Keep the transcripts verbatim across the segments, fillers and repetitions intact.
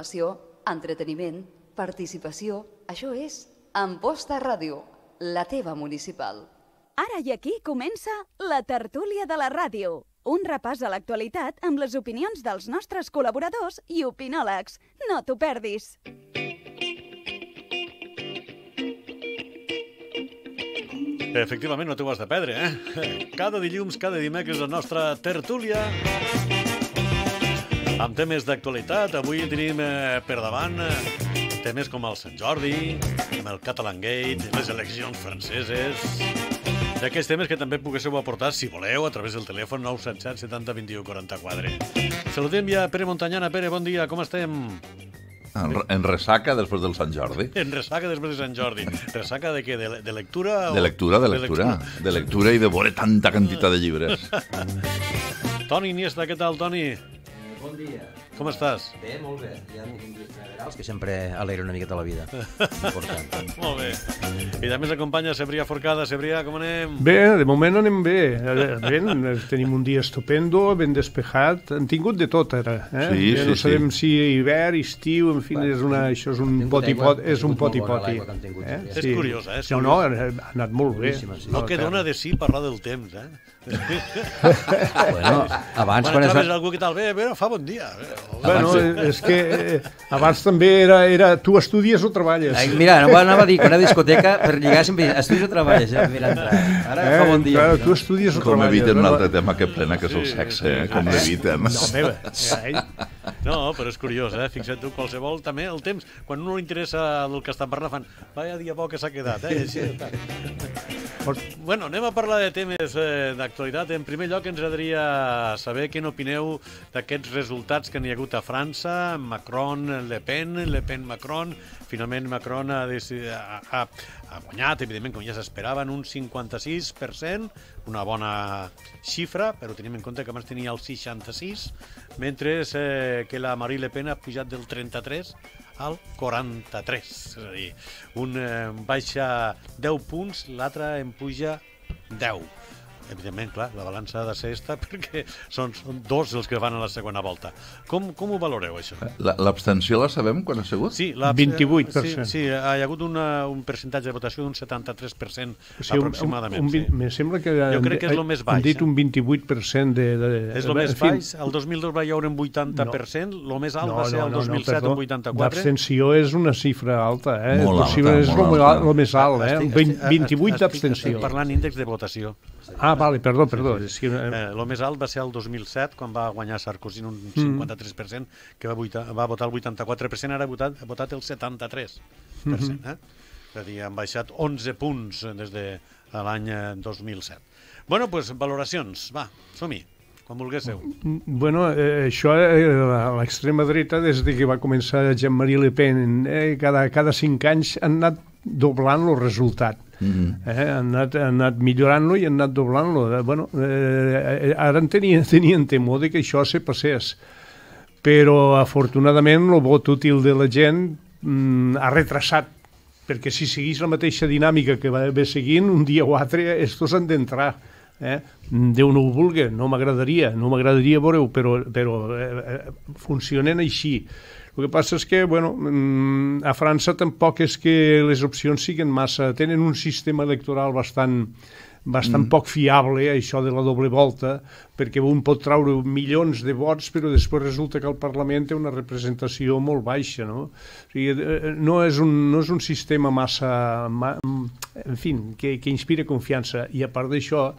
Entreteniment, participació, això és Amposta Ràdio, la teva municipal. Ara i aquí comença la tertúlia de la ràdio. Un repàs a l'actualitat amb les opinions dels nostres col·laboradors i opinòlegs. No t'ho perdis. Efectivament, no t'ho has de perdre, eh? Cada dilluns, cada dimecres, la nostra tertúlia amb temes d'actualitat. Avui tenim eh, per davant eh, temes com el Sant Jordi, amb el Catalan Gate, les eleccions franceses, d'aquests temes que també poguéssiu aportar, si voleu, a través del telèfon nou set set setanta vint-i-u quaranta-quatre. Saludem ja Pere Montanyana. Pere, bon dia, com estem? En, en ressaca després del Sant Jordi. En ressaca després de Sant Jordi. Ressaca de què? De, de lectura? O... De lectura, de lectura. De lectura, de lectura i de veure tanta quantitat de llibres. Toni Iniesta, què tal, Toni? Bon dia. Com estàs? Bé, molt bé. Hi ha uns dies generals que sempre alegra una miqueta la vida. Important. Molt bé. I també s'acompanya Cebrià Forcada. Cebrià, com anem? Bé, de moment anem bé. Ben, tenim un dia estupendo, ben despejat. Han tingut de tot, ara. Eh? Sí, ja sí, no sabem sí. si hivern, estiu, en fi, és una, això és un poti-poti. És un poti-poti. Eh? És curiós, eh? És no, no, ha anat molt bé. No que dona de sí parlar del temps, eh? Bueno, abans... Quan trobes algú que tal, bé, bé, fa bon dia. Bueno, és que eh, abans també era, era tu estudies o treballes. Ai, mira, no anava a dir que una discoteca per lligar sempre estudies o treballes, eh? Mira, ara eh, fa bon dia. Clar, tu estudies o com treballes. Com eviten un altre tema que plena, que és el sexe, eh? Com l'eviten. No, meva. No, però és curiós, eh? Fixa't tu, qualsevol, també, el temps, quan no li interessa del que estan parlant, fan, vaya dia bo que s'ha quedat, eh? Així, bueno, anem a parlar de temes eh, d'actualitat. En primer lloc, ens agradaria saber què n'opineu d'aquests resultats que n'hi ha hagut a França, Macron, Le Pen, Le Pen, Macron. Finalment, Macron ha, ha, ha, ha guanyat, evidentment, com ja s'esperava, en un cinquanta-sis per cent, una bona xifra, però tenim en compte que abans tenia el seixanta-sis, mentre eh, que la Marine Le Pen ha pujat del trenta-tres al quaranta-tres. És a dir, un eh, baixa deu punts, l'altre en puja deu. Evidentment, clar, la balança ha de ser esta perquè són, són dos els que van a la segona volta. Com, com ho valoreu, això? L'abstenció la sabem quan ha sigut? Sí, la, vint-i-vuit per cent. Sí, sí, hi ha hagut una, un percentatge de votació d'un setanta-tres per cent o sigui, aproximadament. Un, un, un, sí. Me sembla que... Jo crec que és el més baix. Han dit un vint-i-vuit per cent de... de és el més baix. El dos mil dos va hi haure un vuitanta per cent, el més alt no, va ser el no, dos mil set, no, un vuitanta-quatre. L'abstenció és una xifra alta, eh? Molt Possible, alta, és molt el, alta. el més alt, eh? Estic, vint-i-vuit d'abstenció. Estic parlant índex de votació. Ah, vale, perdó, perdó. Sí, sí. Eh, el més alt va ser el dos mil set, quan va guanyar Sarkozy un cinquanta-tres per cent, que va, vuita, va votar el vuitanta-quatre per cent, ara ha votat, ha votat el setanta-tres per cent. Eh? És a dir, han baixat onze punts des de l'any dos mil set. Bueno, doncs, pues, valoracions. Va, som-hi. Com volguéssiu. Bueno, eh, això, eh, l'extrema dreta, des de que va començar Jean-Marie Le Pen, eh, cada, cada cinc anys han anat doblant el resultat. Mm-hmm. eh, han, anat, han anat millorant-lo i han anat doblant-lo. Eh, bueno, eh, ara en tenien, tenien temor de que això se passés, però afortunadament el vot útil de la gent mm, ha retrasat, perquè si seguís la mateixa dinàmica que va haver seguint, un dia o altre estos han d'entrar. Eh? Déu no ho vulgui, no m'agradaria, no m'agradaria veure-ho, però, però eh, funcionen així. El que passa és que, bueno, a França tampoc és que les opcions siguin massa... Tenen un sistema electoral bastant, bastant mm. poc fiable, això de la doble volta, perquè un pot traure milions de vots, però després resulta que el Parlament té una representació molt baixa, no? O sigui, no és un, no és un sistema massa... Ma, en fi, que, que inspira confiança. I a part d'això,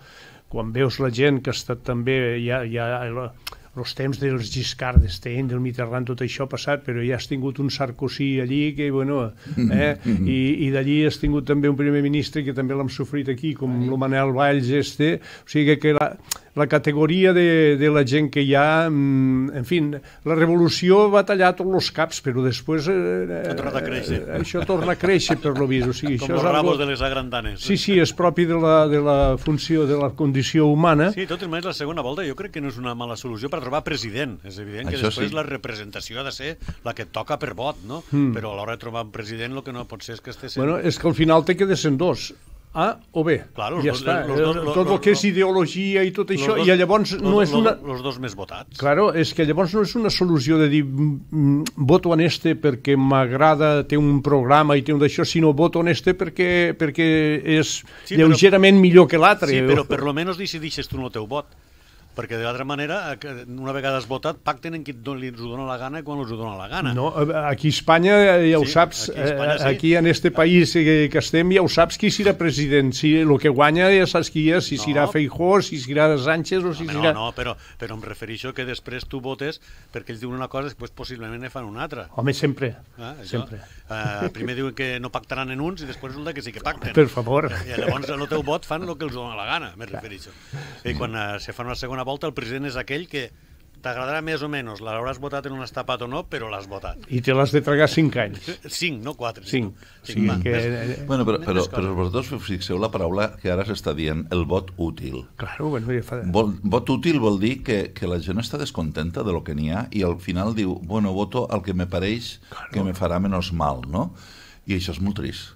quan veus la gent que ha estat també... Ja, ja, els temps dels Giscard d'Estaing, del Mitterrand, tot això ha passat, però ja has tingut un Sarkozy allí, que, bueno, eh, i, i d'allí has tingut també un primer ministre que també l'hem sofrit aquí, com el Manel Valls, este, o sigui que la, la categoria de, de la gent que hi ha, en fi, la revolució va tallar tots els caps, però després eh, ha tornat a créixer. Eh, això torna a créixer per lo vist. O sigui, com això els és rabos algo... de les agrandanes. Sí, sí, és propi de la, de la funció, de la condició humana. Sí, tot i més la segona volta jo crec que no és una mala solució per trobar president. És evident que això després sí. La representació ha de ser la que et toca per vot, no? Mm. Però a l'hora de trobar un president el que no pot ser és que esté sent... Bueno, és que al final té que ser dos. A o B. Claro, ja los, està. los, los, los, tot el que és ideologia i tot això, dos, i llavors los, no és los, una... Els dos més votats. Claro, és que llavors no és una solució de dir mm, voto en este perquè m'agrada, té un programa i té un d'això, sinó voto en este perquè, perquè és Sí, lleugerament però, millor que l'altre. Sí, però per lo menos decidixes tu en el teu vot. Perquè de l'altra manera, una vegada has votat, pacten en qui els ho dona la gana i quan els ho dona la gana. No, aquí a Espanya ja ho Sí, saps, aquí a Espanya sí. aquí en este país que estem ja ho saps qui serà president, si el que guanya ja saps qui és, si No. serà Feijóo, si serà Sánchez o si No, serà... no, però, però em refereixo que després tu votes perquè ells diuen una cosa i després possiblement ne fan una altra. Home, sempre, Ah, això, sempre. eh, primer diuen que no pactaran en uns i després resulta que sí que pacten. Per favor. I llavors el teu vot fan el que els dona la gana, me refereixo. I quan eh, se fa una segona volta, el president és aquell que t'agradarà més o menys, l'hauràs votat en un estapat o no, però l'has votat. I te l'has de tragar cinc anys. Cinc, no quatre. Cinc. Sí, Sí, va, que... més- Bueno, però, més però, coses. però vosaltres fixeu la paraula que ara s'està dient, el vot útil. Claro, bueno, ja fa... Vol, vot útil vol dir que, que la gent està descontenta de lo que n'hi ha i al final diu, bueno, voto el que me pareix que me farà menys mal, no? I això és molt trist.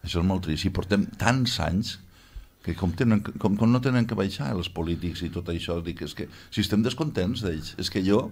Això és molt trist. I portem tants anys que com, tenen, com, com no tenen que baixar els polítics i tot això, dic, és que si estem descontents d'ells, és que jo,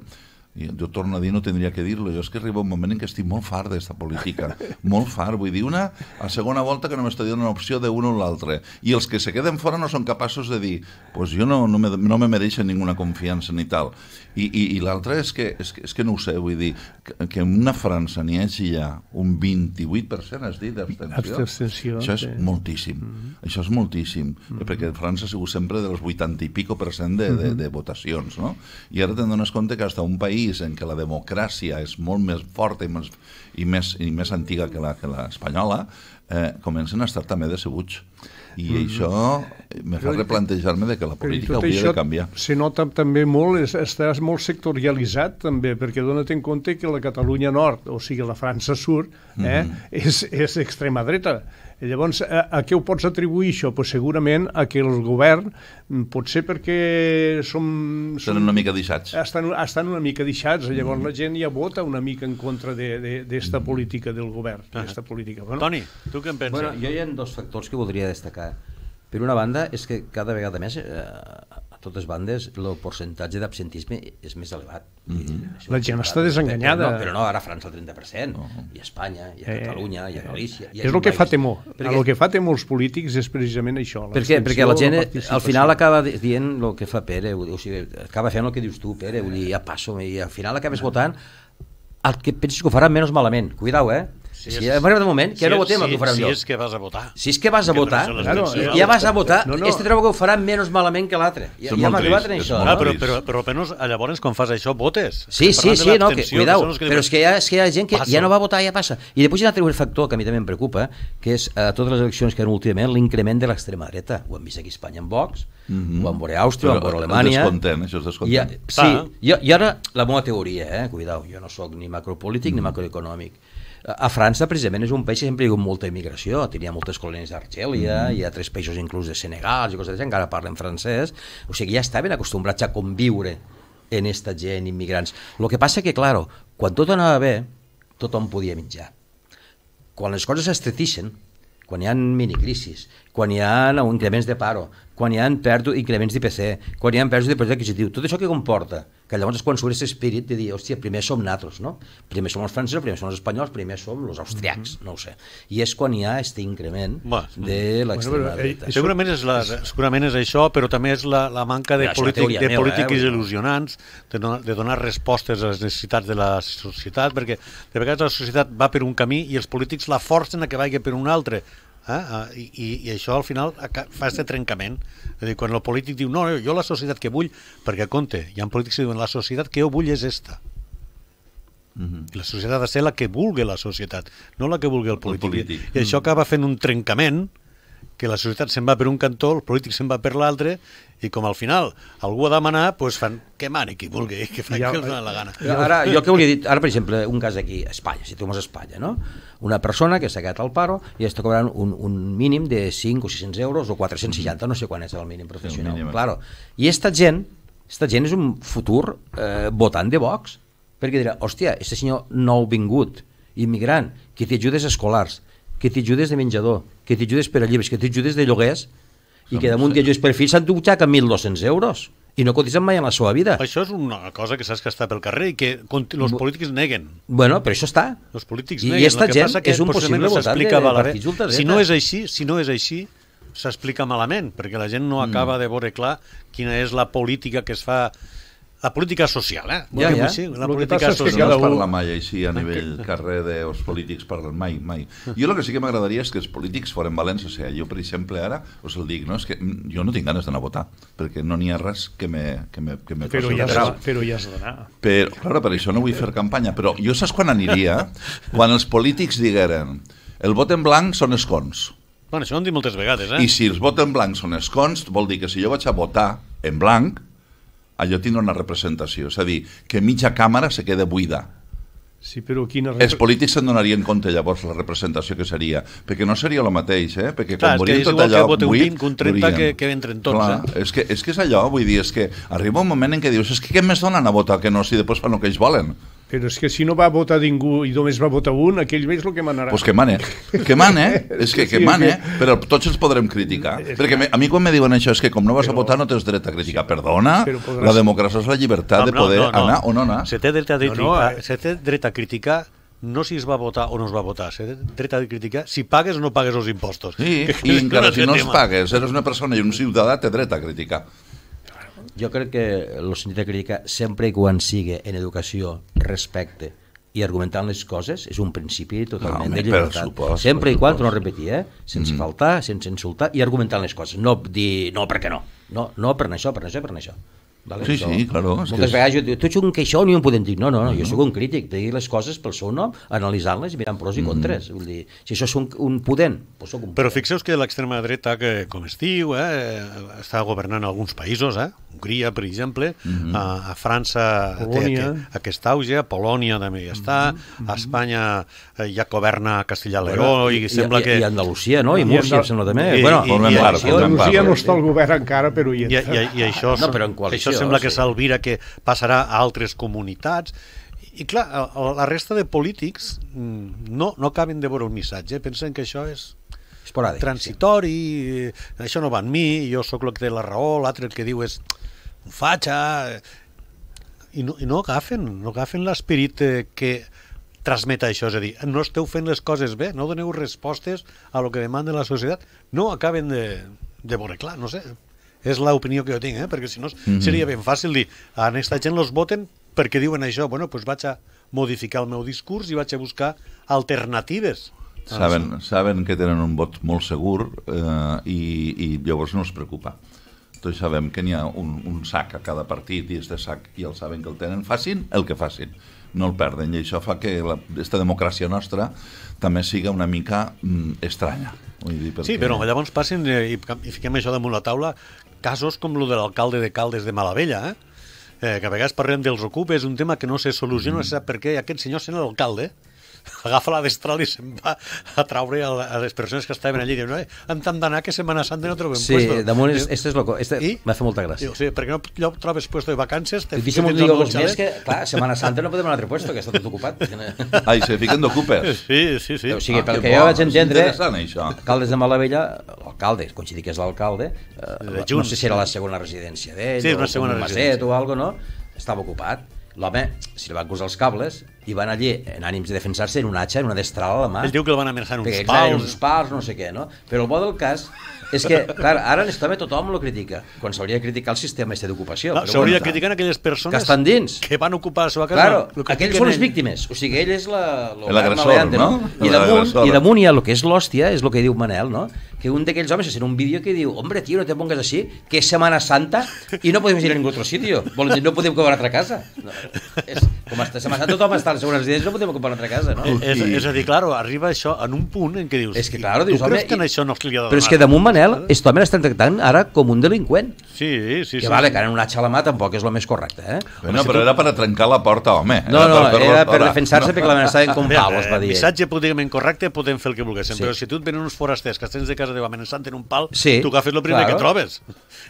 jo torno a dir, no tindria que dir-lo, jo és que arriba un moment en què estic molt fart d'esta política, molt fart, vull dir, una a segona volta que només t'ha dit una opció d'un o l'altre, i els que se queden fora no són capaços de dir, pues jo no, no, me, no me mereixen ninguna confiança ni tal, i, i, i l'altre és, que, és, que, és que no ho sé, vull dir, que, que en una França n'hi hagi ja un vint-i-vuit per cent, has dit, d'abstenció, Abstenció, això és sí. moltíssim, mm-hmm. això és moltíssim, mm-hmm. perquè França ha sigut sempre dels vuitanta i pico per cent de, de, de votacions, no? I ara te'n dones compte que hasta un país en què la democràcia és molt més forta i més, i més, i més antiga que la, que la espanyola, eh, comencen a estar també decebuts. I mm-hmm. això me fa replantejar-me de que la política hauria de canviar. Se nota també molt, és, està molt sectorialitzat també, perquè dona't en compte que la Catalunya Nord, o sigui la França Sud, eh, mm-hmm. és, és extrema dreta. I llavors, a, a què ho pots atribuir això? Pues segurament a que el govern, potser perquè som... som Estan una mica deixats. estan, estan una mica deixats, llavors mm. la gent ja vota una mica en contra d'esta política del govern. Ah. política. Bueno, Toni, tu què en penses? Bueno, jo hi ha dos factors que voldria destacar. Per una banda, és que cada vegada més, eh, a totes bandes, el percentatge d'absentisme és més elevat. Mm-hmm. La gent està desenganyada. Però no, però no, ara França el trenta per cent, No. i a Espanya, i a Eh, Catalunya, i a Galícia... I a és el que fa país. temor. Perquè, El que fa temor als polítics és precisament això. perquè, perquè la gent l'abstenció, al final acaba dient el que fa Pere, o sigui, acaba fent el que dius tu, Pere, vull dir, ja passo, i al final acabes votant el que penses que ho farà menys malament. Cuidao, eh? Sí, Si és- ha arribat un moment que ja no Si- votem el si- que ho farà si millor. és que vas a votar. Si és que vas a Que no votar, són les Claro, eleccions. eh, ja vas a votar, No, no. este trobo que ho farà menys malament que l'altre. Ja, Això és ja hem molt arribat trist, en és això. molt no? Ah, però, trist. però, però almenys llavors quan fas això votes. Sí, Estem sí, parlant de sí, no, que, l'abstenció, cuidao, són els que però és que, hi ha, és que hi ha gent que Passa. ja no va votar, ja passa. I després hi ha un altre factor que a mi també em preocupa, que és a totes les eleccions que hi ha últimament l'increment de l'extrema dreta. Ho hem vist aquí a Espanya amb Vox, Mhm. ho hem veure a Àustria, ho hem Però veure a el Alemanya... descontent, això és descontent. I, ja- sí, Ah. jo, i ara la meva teoria, eh, cuidao, jo no sóc ni macropolític ni macroeconòmic. A França, precisament, és un país que sempre hi ha hagut molta immigració. Tenia moltes colònies d'Argèlia, mm. hi ha tres països inclús de Senegal, i coses d'això, encara parlen francès. O sigui, ja estaven acostumbrats a conviure en esta gent, immigrants. El que passa que, clar, quan tot anava bé, tothom podia menjar. Quan les coses s'estretixen, quan hi ha minicrisis, quan hi ha increments de paro, quan hi ha pèrdua, increments d'I P C, quan hi ha pèrdues de poder adquisitiu, tot això que comporta, que llavors és quan surt aquest espírit de dir, hòstia, primer som nosaltres, no? Primer som els francesos, primer som els espanyols, primer som els austriacs, no ho sé. I és quan hi ha aquest increment Va. de l'extrema Bueno, però, eh, dreta. Segurament és, la, segurament és això, però també és la, la manca de, Mira, això és una polític, teoria de meva, polítiques eh, vull dir. il·lusionants, de donar, de donar respostes a les necessitats de la societat, perquè de vegades la societat va per un camí i els polítics la forcen a que vagi per un altre. Eh? I, i, I això al final aca- fa aquest trencament. És a dir, quan el polític diu no, jo la societat que vull, perquè compte, hi ha polítics que diuen la societat que jo vull és esta. Mhm. I la societat ha de ser la que vulgui la societat, no la que vulgui el polític. polític. I això acaba fent un trencament, que la societat se'n va per un cantó, el polític se'n va per l'altre, i com al final algú ha de manar, doncs fan que mani qui vulgui, que fa Ja, que els doni la gana. Ara, jo que volia dir, ara per exemple, un cas aquí a Espanya, si tornem a Espanya, no? Una persona que s'ha quedat al paro i està cobrant un, un mínim de cinc o sis-cents euros o quatre-cents seixanta, no sé quan és el mínim professional. mínim. Claro. I esta gent, esta gent és un futur eh, votant de Vox, perquè dirà, hòstia, este senyor nou vingut, immigrant, que té ajudes escolars, que té ajudes de menjador, que t'ajudes per a llibres, que t'ajudes de lloguers, i que damunt que ajudes per fills s'han dutxat amb mil dos-cents euros, i no cotitzen mai en la seva vida. Això és una cosa que saps que està pel carrer i que els polítics neguen. Bueno, però això està. Els polítics I neguen. esta El que gent passa que és un possiblement possible no votant s'explica de malament. partits ultradreta. Si no és així, si no és així, s'explica malament, perquè la gent no acaba de veure clar quina és la política que es fa. La política social, eh? Ja, ja. Així, la Lo que política passa és que social. No cada es un- parla mai així a nivell carrer dels polítics, parlen mai, mai. Jo el que sí que m'agradaria és que els polítics foren valents, o sigui, jo per exemple ara us el dic, no? És que jo no tinc ganes d'anar a votar, perquè no n'hi ha res que me, que me, que me Però faci ja, grau. has, però ja has d'anar. Però, clar, per això no vull fer campanya, però jo saps quan aniria? Quan els polítics digueren el vot en blanc són escons. Bueno, això ho hem dit moltes vegades, eh? I si els vot en blanc són escons, vol dir que si jo vaig a votar en blanc, allò tindrà una representació. És a dir, que mitja càmera se queda buida. Sí, però quina... Els polítics se'n donarien compte llavors la representació que seria, perquè no seria el mateix, eh? Perquè Clar, quan és que veurien és tot igual que allò vote un buit, vint que un trenta veurien. que- que entren tots, Clar, eh? és que, és que és allò, vull dir, és que arriba un moment en què dius, és que què més donen a votar que no, si després fan el que ells volen? Però és que si no va votar ningú i només va votar un, aquell és el que manarà. Pues que mane, que mane, és que, que Sí, mane, que- però tots els podrem criticar. Perquè me- a mi quan me diuen això és que com no vas a votar no tens dret a criticar. Perdona, Però podràs- la democràcia és la llibertat de poder anar o no anar. Se té dret a, No, no, criticar, eh. se té dret a criticar no si es va votar o no es va votar, se té dret a criticar si pagues o no pagues els impostos. Sí, Que i és encara un si no els tema. pagues, eres una persona i un ciutadà, té dret a criticar. Jo crec que el sentit de crítica, sempre i quan sigui en educació, respecte i argumentant les coses, és un principi totalment home, de per llibertat. supost, sempre per i quan, supost. torno a repetir, eh? sense mm. faltar, sense insultar i argumentant les coses. No dir, no, perquè no. No, no per això, per això, per això. Vale? Sí, Això, sí, claro, és que Moltes és- vegades jo dic, tu ets un queixón i em podem dir, no, no, no, jo sóc un crític, de dir les coses pel seu nom, analitzant-les i mirant pros i contres. Vull dir, si això és un, un pudent, doncs soc un Però pudent. fixeu que l'extrema dreta, que, com es diu, eh, està governant alguns països, eh? Hongria, per exemple, a, a França Polònia. té aquest, aquest auge, a Polònia també hi està, a Espanya eh, ja governa Castilla-Leó i, sembla i, que... I Andalusia, no? I I Múrcia, Andal- em sembla també. I- bueno, i- formem i- part, i- formem part. Andalusia no està al govern encara, però hi I, i, entra. i això, No, però en coalició, això sembla que sí. s'alvira que passarà a altres comunitats. I clar, a- a la resta de polítics mm, no, no acaben de veure un missatge, pensen que això és esporàdic. transitori, eh, això no va en mi, jo sóc el que té la raó, l'altre el que diu és un fatxa, eh, i no, i no agafen, no agafen l'esperit eh, que transmet això, és a dir, no esteu fent les coses bé, no doneu respostes a lo que demanda la societat, no acaben de, de veure clar, no sé, és l'opinió que jo tinc, eh? Perquè si no Mhm. seria ben fàcil dir, a aquesta gent los voten perquè diuen això, bueno, doncs vaig a modificar el meu discurs i vaig a buscar alternatives. Saben, saben que tenen un vot molt segur eh, i, i llavors no es preocupa. Tots sabem que n'hi ha un, un sac a cada partit i este sac i el saben que el tenen, facin el que facin, no el perden, i això fa que la, esta democràcia nostra també siga una mica mm, estranya. Vull dir, perquè... Sí, però llavors passen eh, i, i fiquem això damunt la taula casos com el de l'alcalde de Caldes de Malavella, eh? Eh, que a vegades parlem dels ocupes, un tema que no se soluciona, mm. no se sap per què aquest senyor sent l'alcalde, agafa la destral i se'n va a traure a, a les persones que estaven allí, diuen, no, hem d'anar que Setmana Santa no trobem Sí, puesto. damunt, és, este és loco, este I? m'ha fet molta gràcia. Diu, sí, perquè no no trobes puesto de vacances? Te I deixa'm fiques dir dins del dos xalet? més que, clar, Setmana Santa no podem anar a un altre puesto, que està tot ocupat. Ai, se fiquen d'ocupes. Sí, sí, sí. O sigui, Ah, pel que que jo bo, vaig és entendre, interessant, això. Caldes de Malavella, l'alcalde, coincidir que és l'alcalde, eh, De no Junts. sé si era la segona residència d'ell, Sí, una o segona un maset residència. o alguna cosa, no? Estava ocupat. L'home, si li van posar els cables, i van allí, en ànims de defensar-se, en un hatxa, en una destral a la mà. Ell diu que el van amenaçar en uns Perquè clar, eren pals. uns pals, no sé què, no? Però el bo del cas és que, clar, ara en este tothom lo critica, quan s'hauria de criticar el sistema este d'ocupació. Ah, però s'hauria de bueno, criticar aquelles persones que estan dins. que van ocupar la seva casa. Claro, Lo que aquells critiquen són les ell. víctimes, o sigui, ell és la, lo L'agressor, maleante, no? I damunt, L'agressor. i damunt hi ha el que és l'hòstia, és el que diu Manel, no? Que un d'aquells homes se sent un vídeo que diu, hombre, tío, no te pongas así, que és Semana Santa i no podem ir a ningú altre sitio. Volen dir, no podem ocupar una altra casa. No, és, com està Semana Santa, tothom està a la segona residència, no podem ocupar una altra casa, no? És, és a dir, claro, arriba això en un punt en què dius, És que, claro, dius, tu creus home, que en i- això no se li ha de Però és donar? que damunt Manel, aquest home l'estan tractant ara com un delinqüent. Sí, sí, Que sí. vale, que ara un atxa a la mà tampoc és el més correcte, eh? Bueno, però era per a trencar la porta, home. No, no, per- era per per- defensar-se perquè l'amenaçaven com Bé, palos, va eh, dir. missatge políticament correcte podem fer el que volguéssim, Sí. però si tu et venen uns forasters que estens de casa teva amenaçant en un pal, Sí, tu agafes el primer claro. que trobes.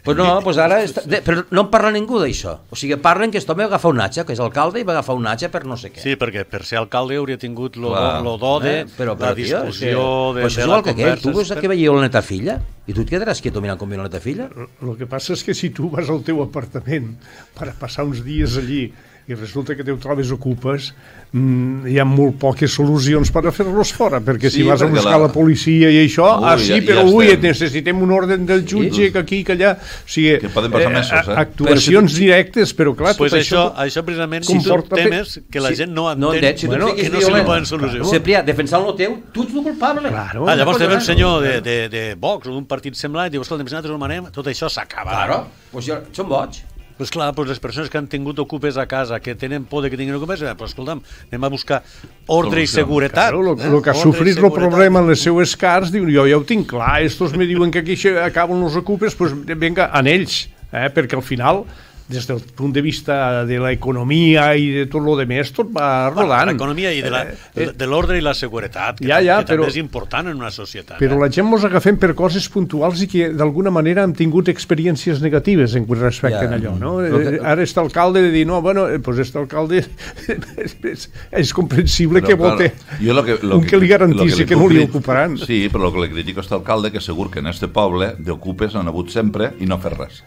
Pues no, pues ara... Està... de- Però no en parla ningú d'això. O sigui, parlen que aquest home va agafar un atxa, que és alcalde, i va agafar agafar un atge per no sé què. Sí, perquè per ser alcalde hauria tingut lo, Clar. lo do de Eh, però, però, la tio, discussió és que, de, pues de és la igual que aquell, conversa. tu veus que veieu la neta filla i tu et quedaràs quieto mirant com viu la neta filla? El que passa és que si tu vas al teu apartament per passar uns dies allí i resulta que te ho trobes ocupes, mmm, hi ha molt poques solucions per a fer-los fora, perquè Sí, si vas a perquè buscar la- la... la policia i això, Ui, ah sí, ja- però ja ui, estem. necessitem un ordre del jutge Sí. que aquí, que allà... O sigui, Que poden passar mesos, eh? Actuacions directes, però clar, Pues tot això, això... això precisament comporta són fe- temes que la Sí, gent no no entén, entén, si tu bueno, et fiques que no se li violent. poden solucionar. Ciprià, defensant el teu, tu ets el culpable. Claro. Ah, llavors No també un pot senyor de, de, de Vox o d'un partit semblant i diu, escolta, si nosaltres ho manem, tot això s'acaba. Claro, pues jo, són boig. Pues clar, pues les persones que han tingut ocupes a casa, que tenen por de que tinguin ocupes, eh, pues escolta'm, anem a buscar ordre i Solució. seguretat. Claro, lo, eh? lo que ha Ordre i sofrit el seguretat. problema en les seues cars, diu, jo ja ho tinc clar, estos me diuen que aquí se acaben los ocupes, pues venga, en ells, eh? perquè al final, des del punt de vista de l'economia i de tot lo demés, tot va Bueno, rodant. l'economia i de la- Eh, de l'ordre i la seguretat, que, Ja, ja, que però- també és important en una societat. Però eh? la gent mos agafem per coses puntuals i que d'alguna manera hem tingut experiències negatives en respecte Ja. a allò, no? Lo que- Eh, Ara està alcalde de dir, no, bueno, eh, pues este alcalde és, és, és comprensible Però, que clar, vote jo lo que, lo un que li garantís lo que no puc li crit- ocuparan. Sí, però el que li critico a este alcalde que segur que en este poble d'ocupes han hagut sempre i no fer res.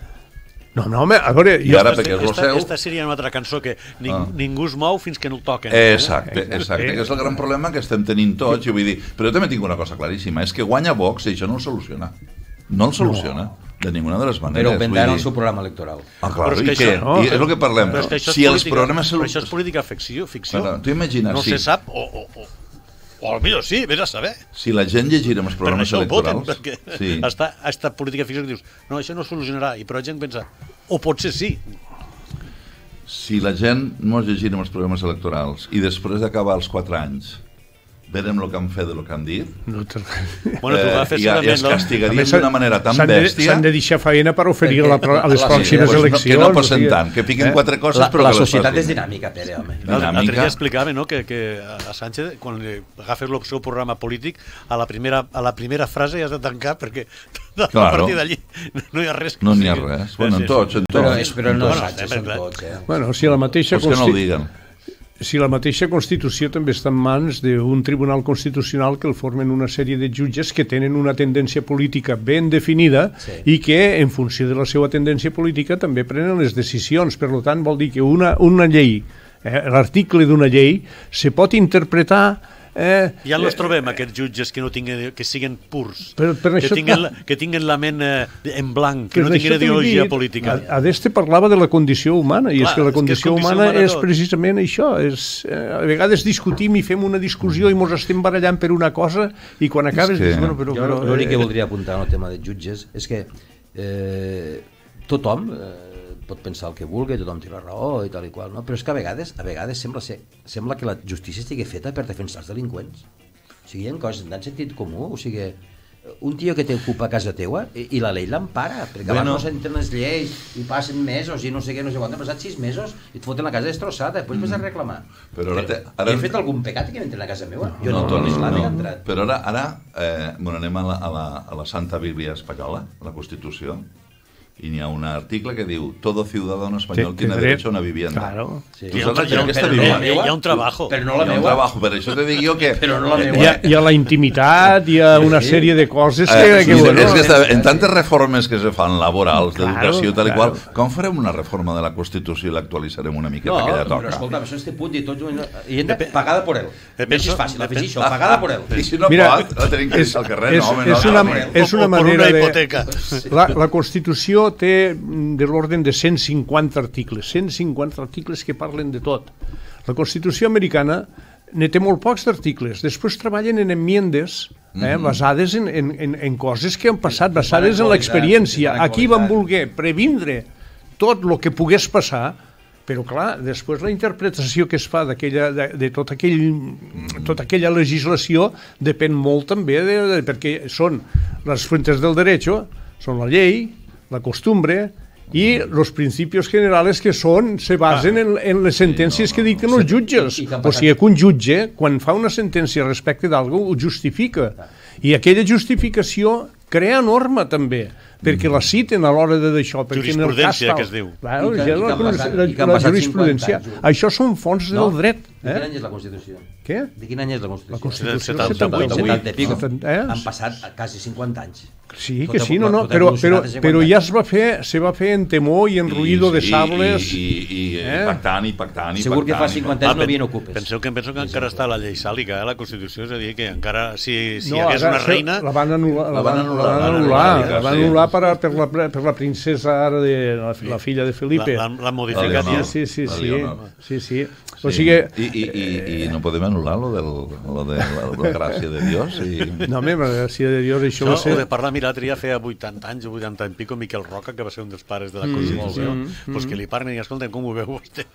No, no, home, a veure, I jo, ara, Esta, perquè és el esta, seu... esta seria una altra cançó que ning, Ah. ningú es mou fins que no el toquen. Exacte, exacte, que és el gran problema que estem tenint tots, i vull dir, però jo també tinc una cosa claríssima, és que guanya Vox i això no el soluciona. No el soluciona, de ninguna de les maneres. Però vendran vull el dir. seu programa electoral. Ah, clar, Però és i que què? això- no, I és el que parlem. Però és que això és Si els política- problemes... Però això és política ficció. ficció. Bueno, tu imagina't, no sí. se sap, o, o, o, o potser sí, vés a saber. Si la gent llegirem els Per programes això ho voten, electorals... perquè Sí. està, està política ficció que dius, no, això no es solucionarà, i però la gent pensa, o potser sí. Si la gent mos llegirem els programes electorals i després d'acabar els quatre anys verem el que han fet i el que han dit, no te... Bueno, tu eh, agafes i, i segurament... es no? castigarien d'una manera tan s'han de, bèstia... s'han de deixar feina per oferir a, la, pro- a les Sí, pròximes pues no, eleccions. que no o passen sigui, tant, que piquen eh? quatre coses La, però la que les societat és facin. dinàmica, Pere, home. L'altre dinàmica. dia explicava, no?, que, que a Sánchez, quan li agafes el seu programa polític, a la primera, a la primera frase ja has de tancar perquè a Claro. partir d'allí no hi ha res. que No n'hi ha sigui- res. Bueno, en Sí, sí. tots, en tots. Però, és, però no Bueno, Sánchez, sempre, són clar. tots, eh? Bueno, si la mateixa Pues que no ho consti- diguen. si la mateixa Constitució també està en mans d'un tribunal constitucional que el formen una sèrie de jutges que tenen una tendència política ben definida Sí. i que, en funció de la seva tendència política, també prenen les decisions. Per tant, vol dir que una, una llei, eh, l'article d'una llei, se pot interpretar... Eh, Ja els trobem, aquests jutges que no tinguin, que siguin purs, Per- per que, això tinguin, clar. la- que tinguin la ment eh, en blanc, que, que no d'això tinguin t'he ideologia dit, política. A, a d'este parlava de la condició humana, i Clar, és que la és que és condició, condició humana, humana és tot. precisament això. És, eh, a vegades discutim i fem una discussió i mos estem barallant per una cosa i quan acabes que- dius, bueno, però... Jo però l'únic que eh, voldria apuntar en el tema de jutges és que eh, tothom eh, pot pensar el que vulgui, tothom té la raó i tal i qual, no? Però és que a vegades a vegades sembla, ser, sembla que la justícia estigui feta per defensar els delinqüents. O sigui, hi ha coses tan sentit comú, o sigui, un tio que t'ocupa a casa teua i, i la llei l'empara, perquè Bueno. abans no s'entren les lleis i passen mesos i no sé què, no sé quant, han passat sis mesos i et foten la casa destrossada, després vas a reclamar. Però ara te- Ara... ara- He fet algun pecat que m'entren a casa meva? Jo no, no, no, no. he entrat. Però ara, ara eh, bueno, anem a la, a, la, a la Santa Bíblia Espanyola, a la Constitució, i n'hi ha un article que diu todo ciudadano español Té- té tiene dret. derecho a una vivienda. Claro. Sí. Tu Hi ha un, saps hi ha un, aquesta hi Bíblia? ha, hi ha un trabajo. Però no Hi la ha un meva. trabajo, per això te dic jo que... Però no la meva. Hi ha, hi ha la intimitat, hi ha una Sí. sèrie de coses que... Eh, que sí, bueno, és que està, en tantes reformes que se fan laborals, Claro, d'educació, tal i claro. qual, com farem una reforma de la Constitució i l'actualitzarem una miqueta No, que ja però toca? escolta, això este punt i tots... I hem de pagada por él. Depèn- Més és fàcil, afegir depèn- això, pagada por él. I si no Mira, pot, la tenim que és- deixar al carrer, és- no, home, és no, una- no, no. és una o, o per manera una de- hipoteca. La, la Constitució té mm, de l'ordre de cent cinquanta articles, cent cinquanta articles que parlen de tot. La Constitució americana ne té molt pocs d'articles. Després treballen en enmiendes eh, basades en, en, en, en coses que han passat, basades en l'experiència. Aquí van voler previndre tot el que pogués passar, però clar, després la interpretació que es fa d'aquella de, de tot aquell, tota aquella legislació depèn molt també de, de, perquè són les fuentes del derecho, són la llei, la costumbre i els principios generales que són, se basen en, en les sentències que dicten els jutges. I que han O sigui que un jutge, quan fa una sentència respecte d'algú, ho justifica. I aquella justificació crea norma també. perquè la citen a l'hora de d'això. Jurisprudència, que es diu. Claro, I que- ja i que la, han passat- la, i que han la passat jurisprudència. cinquanta anys. Això són fonts No? del dret. De quin Eh? any és la Constitució? Què? De quin any és la Constitució? La Constitució setanta-vuit, setanta-vuit. setanta i pico. Eh? Han passat quasi cinquanta anys. Sí, Tot que ha- sí, no, no, tot ha però, però, evolucionat en però cinquanta ja es va fer, se va fer en temor i en ruïdo de sables. I, i, i Eh? pactant, i pactant, i Segur que fa pactant, i cinquanta Ah, anys no pen- havien ocupes. Penseu que penso que encara està la llei sàlica, eh, la Constitució, és a dir, que encara, si, si No, hi hagués ara una se- reina... La van anul·lar, la van anul·lar, la van anul·lar, anul·lar, la van sí. anul·lar per, per, la, per la princesa ara de la, la filla de Felipe. La, la, la La modificat Leonor. ja. Sí, sí, La sí, Leonor. sí, sí. O Sí. sigui, I, i, i, i no podem anul·lar lo, del, lo de la, la gràcia de Dios i... no, home, la gràcia de Dios, això No, va o ser... de parlar, mira, l'altre dia feia vuitanta anys o vuitanta i pico, Miquel Roca, que va ser un dels pares de la Constitució, mm, pues que li parlen i escolten com ho veu vostè.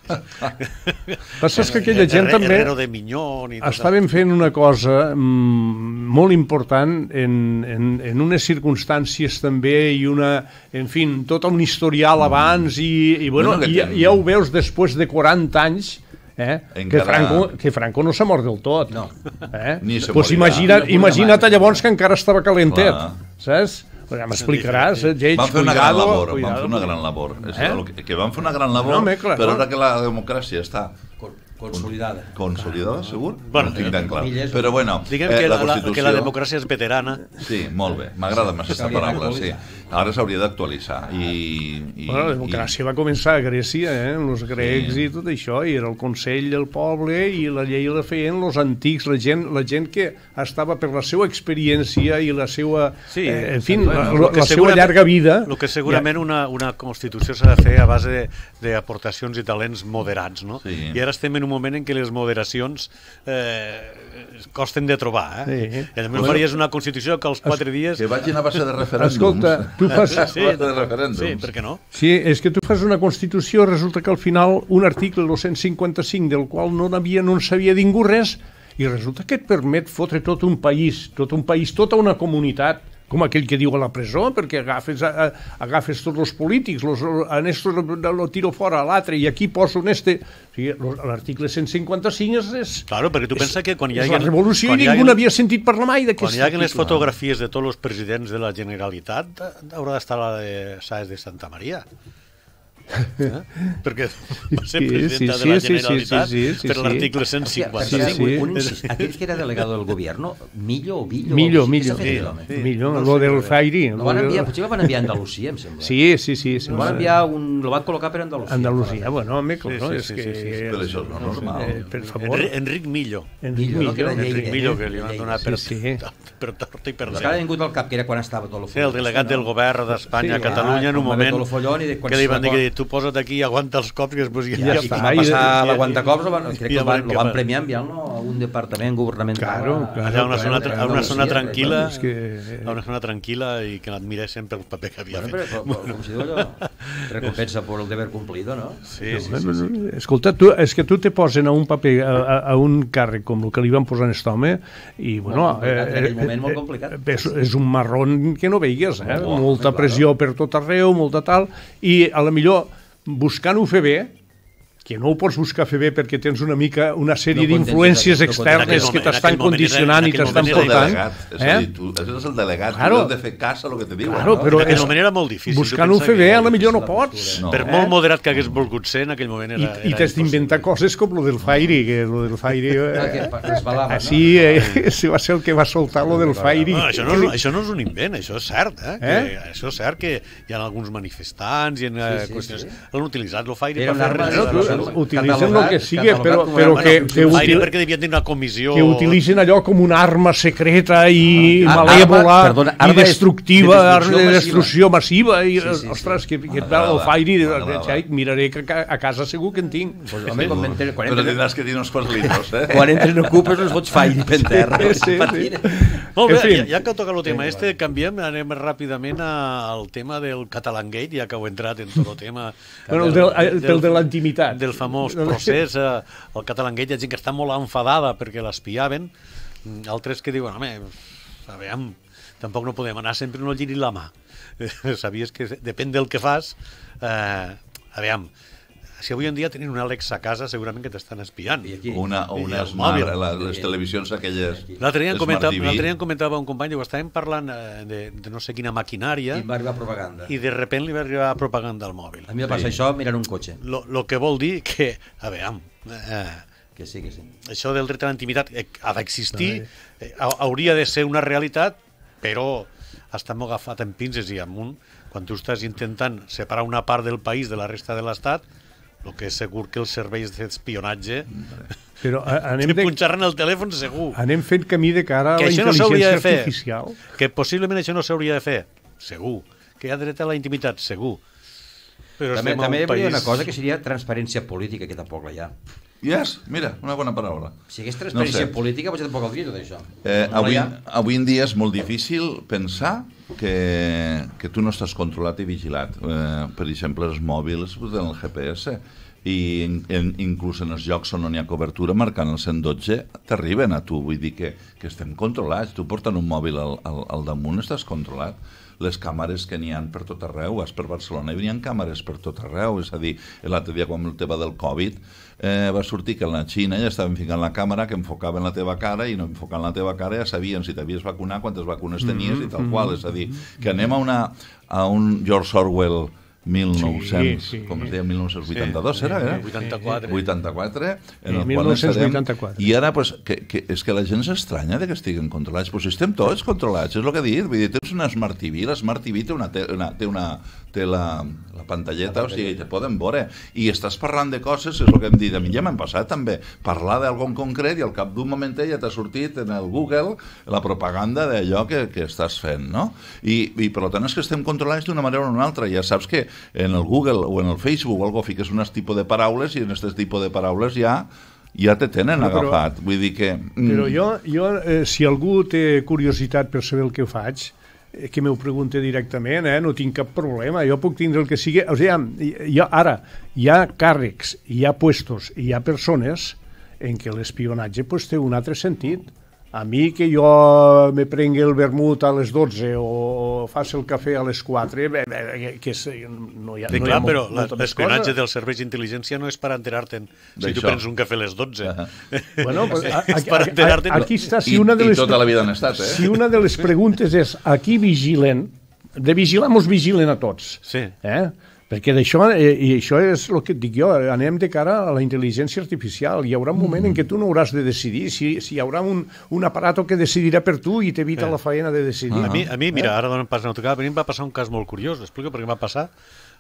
Passa és que aquella gent també Herrero de Minyón i tot estaven fent una cosa mm, molt important en, en, en unes circumstàncies també i una, en fi, tot un historial abans i, i bueno, Bueno, que ja, ten- ja ho veus després de quaranta anys eh? que, Encara- Franco, que Franco no s'ha mort del tot. No. Eh? Ni se pues morirà. imagina't, Ni imagina't mai. llavors que encara estava calentet, Clar. saps? Ja m'explicaràs, eh, Lleig, Van fer una gran cuidado, labor, van cuidado. fer una gran labor. És Eh? el que, que van fer una gran labor, No, home, clar, però no. ara que la democràcia està Con- Consolidada. consolidada, segur? Bueno, no tinc tan clar. comilles, Però bueno, Diguem eh, que, la la, la, Constitució... que la democràcia és veterana. Sí, molt bé, m'agrada més aquesta S'hauria paraula, sí. d'actualitzar. Ara s'hauria d'actualitzar. I, i, Bueno, la democràcia va començar a Grècia, eh, amb els grecs Sí. i tot això, i era el Consell del poble i la llei la feien els antics, la gent, la gent que estava per la seva experiència i la seva, Sí, eh, en fi, bueno, la, lo la, que la seva segurament- llarga vida. El que segurament una, una Constitució s'ha de fer a base de- d'aportacions i talents moderats, no? Sí. I ara estem en un moment en què les moderacions eh, costen de trobar, eh? Sí. I a més faries una Constitució que als quatre dies... Que vagin a base de referèndums. Escolta, tu fas... Sí, a base de referèndums. sí, per què no? Sí, és que tu fas una Constitució, resulta que al final un article, el cent cinquanta-cinc, del qual no n'havia, no en sabia ningú res, i resulta que et permet fotre tot un país, tot un país, tota una comunitat, com aquell que diu a la presó, perquè agafes, a, a, agafes tots els polítics, los, en esto lo, lo tiro fora a l'altre, i aquí poso en este... O sigui, l'article cent cinquanta-cinc és... és Claro, perquè tu és, pensa que quan hi és hagi... la revolució quan i hi hagi- ningú n'havia sentit parlar mai Quan d'aquest hi hagi les article. fotografies de tots els presidents de la Generalitat, haurà d'estar la de Sáenz de Santa Maria. Eh? Perquè va ser Sí, presidenta sí, de la sí, sí, sí, Generalitat sí, sí, per sí. l'article cent Sí, cinquanta-cinc. sí. un incís. Aquell que era delegado del gobierno, Millo o Villo... Millo, Què Millo. s'ha fet, Sí, l'home? sí. Millor, no lo sé, del però- Zairi. Lo lo van del- enviar, potser lo van enviar a Andalusia, em sembla. Sí, sí, sí. sí Lo van enviar un... Lo van col·locar per Andalusia. Andalusia, bueno, home, clar, Sí, no, sí, és sí, que... sí, sí, sí. Però això és no normal. Eh, per favor. Enri Enric Millo. Enric Millo, no? Que era Millo. Lleida. Enric Millo, que li van Lleida, donar per, sí, sí. per tort i per Però que ara ha dret. vingut al cap, que era quan estava tot el Sí, el delegat del govern d'Espanya a Sí, Catalunya en un quan va haver moment tot el follón i de quan que li se van dir va- que tu posa't aquí i aguanta els cops i després ja, Ja, Ja i està, quan va i- passar i- l'aguantacops, lo van- crec i que ja el van, veurem lo què van fa. premiar enviant-lo a un departament governamental. Claro, claro. allà a una zona, claro, a una zona Andalusia, tranquil·la, és que- a una zona tranquil·la i que l'admiréssim pel paper que havia Bueno, però, fet. però, com si diu allò, recompensa por el deber cumplido, no? Sí, sí, sí, sí. Escolta, tu, és que tu te posen a un paper, a, a, a un càrrec com el que li van posar a aquest home, i, bueno... Molt complicat, en aquell moment molt complicat. És, és un marrón que no veigues, eh? Oh, molta clar. pressió per tot arreu, molta tal, i a la millor, buscant-ho fer bé, que no ho pots buscar fer bé perquè tens una mica una sèrie No contentes d'influències d'aquest- no contentes. externes En que aquell t'estan moment era- condicionant en i aquell t'estan moment És el era portant. delegat, és a Eh? dir, tu, és el delegat, Claro. tu has de fer cas a lo que te diuen. Claro, no? però En aquell és- moment era molt difícil. Buscant-ho Tu pensa fer que- bé, a la millor no la pots. postura. No. Per Eh? molt moderat que hagués volgut ser, en aquell moment I, era... i era t'has d'inventar impossible. coses com lo del Fairi, que lo del Fairi... Ah, que Eh, pa- resbalava, així, no? eh, ese va ser el que va soltar lo del Fairi. No, això, no és, això no és un invent, això és cert. Eh? Eh? Que, això és cert que hi ha alguns manifestants i en, eh, sí, qüestions... sí. Han utilitzat el Fairi Era per un fer arma res. de de destrucció. res. Utilitzen el que sigui, catalogat però, com però una que, arma de que, Fairi util, perquè devien tenir una comissió... que utilitzen allò com una arma secreta i Ah, malèvola arma- perdona, arma i de- destructiva, de arma de destrucció destrucció massiva. I, Sí, sí, sí. ostres, que, que et va el M'agrada, Fairi, m'agrada. xai, miraré que a a casa segur que en tinc. Pues, home, quan, entren, quan, Però entren, tindràs que dir uns quants litros, eh? quan entren ocupes els fots fairi per terra. Sí, sí, sí. Molt bé, En fi. ja, ja que toca el tema este, canviem, anem ràpidament a- al tema del Catalangate, ja que heu entrat en tot el tema... Bueno, el del- el del de la intimitat. Del famós procés, eh, el Catalangate, hi ha gent que està molt enfadada perquè l'espiaven, mm, altres que diuen, home, aviam, tampoc no podem anar sempre no giris la mà. Sabies que depèn del que fas, eh, aviam, si avui en dia tenen un Alexa a casa, segurament que t'estan espiant. I aquí? Una, o I una el smart, mòbil. la, les televisions aquelles... L'altre dia, em Smart comentava, T V. l'altre dia em comentava un company, diu, estàvem parlant eh, de, de no sé quina maquinària I va arribar propaganda. i de repent li va arribar propaganda al mòbil. A mi em passa això mirant un cotxe. Lo, lo que vol dir que, a veure, eh, Que sí, que sí. això del dret a la intimitat eh, ha d'existir, eh, hauria de ser una realitat, però està molt agafat en pinces i amunt. Quan tu estàs intentant separar una part del país de la resta de l'Estat, el que és segur que els serveis d'espionatge Però a- anem, te de, punxaran el telèfon segur. anem fent camí de cara a Que la això no s'hauria intel·ligència de fer. artificial. Que possiblement això no s'hauria de fer, segur. Que hi ha dret a la intimitat, segur. Però També, estem a també un hi hauria país... una cosa que seria transparència política, que tampoc la hi ha. Yes, mira, una bona paraula. Si hi hagués transparència No sé. política, potser tampoc caldria tot això. Eh, No la avui, hi ha. avui en dia és molt difícil pensar que, que tu no estàs controlat i vigilat. Eh, per exemple, els mòbils tenen el G P S i in, in, inclús en els llocs on no hi ha cobertura, marcant el cent dotze, t'arriben a tu. Vull dir que, que estem controlats. Tu portant un mòbil al, al, al damunt estàs controlat. Les càmeres que n'hi ha per tot arreu, vas per Barcelona i n'hi ha càmeres per tot arreu, és a dir, l'altre dia quan el tema del Covid eh, va sortir que a la Xina ja estaven ficant la càmera que enfocaven la teva cara i no enfocant la teva cara ja sabien si t'havies vacunat, quantes vacunes tenies i tal qual, és a dir, que anem a, una, a un George Orwell mil nou-cents, Sí, sí. com es deia, mil nou-cents vuitanta-dos, Sí, era, era? vuitanta-quatre. vuitanta-quatre, en el Sí, qual dinou vuitanta-quatre. estarem, i ara, pues, que, que, és que la gent s'estranya de que estiguen controlats, pues estem tots controlats, és el que he dit, vull dir, tens una Smart T V, la Smart T V té una, te, una, té una té la, la pantalleta, o sigui, te poden veure, i estàs parlant de coses, és el que hem dit, a mi ja m'han passat també, parlar d'algun concret i al cap d'un moment ja t'ha sortit en el Google la propaganda d'allò que, que estàs fent, no? I, i per tant és que estem controlats d'una manera o una altra, ja saps que en el Google o en el Facebook o algo fiques un tipus de paraules i en aquest tipus de paraules ja ja te tenen No, però- agafat, vull dir que... mm, Però jo, jo eh, si algú té curiositat per saber el que faig, eh, que m'ho pregunte directament, eh? No tinc cap problema, jo puc tindre el que sigui. O sigui, hi ha, ara, hi ha càrrecs, hi ha puestos, hi ha persones en què l'espionatge pues, té un altre sentit. A mi que jo me prengui el vermut a les dotze o faci el cafè a les quatre, bé, bé, que és, no hi ha, Sí, no hi clar, ha però molt- molta més l'espionatge cosa. dels serveis d'intel·ligència no és per enterar-te'n si tu D'això. prens un cafè a les dotze. Bueno, pues, a, a, És per a, enterar-te'n. a, aquí està, si I, una de i les... tota la vida han estat, eh? Si una de les preguntes és a qui vigilen, de vigilar mos vigilen a tots. Sí. Eh? Perquè d'això, eh, i això és el que et dic jo, anem de cara a la intel·ligència artificial. Hi haurà un moment en què tu no hauràs de decidir, si, si hi haurà un, un aparato que decidirà per tu i t'evita Eh. la faena de decidir. A mi, a mi mira, ara donen pas a notar, a mi em va passar un cas molt curiós, explico per què em va passar.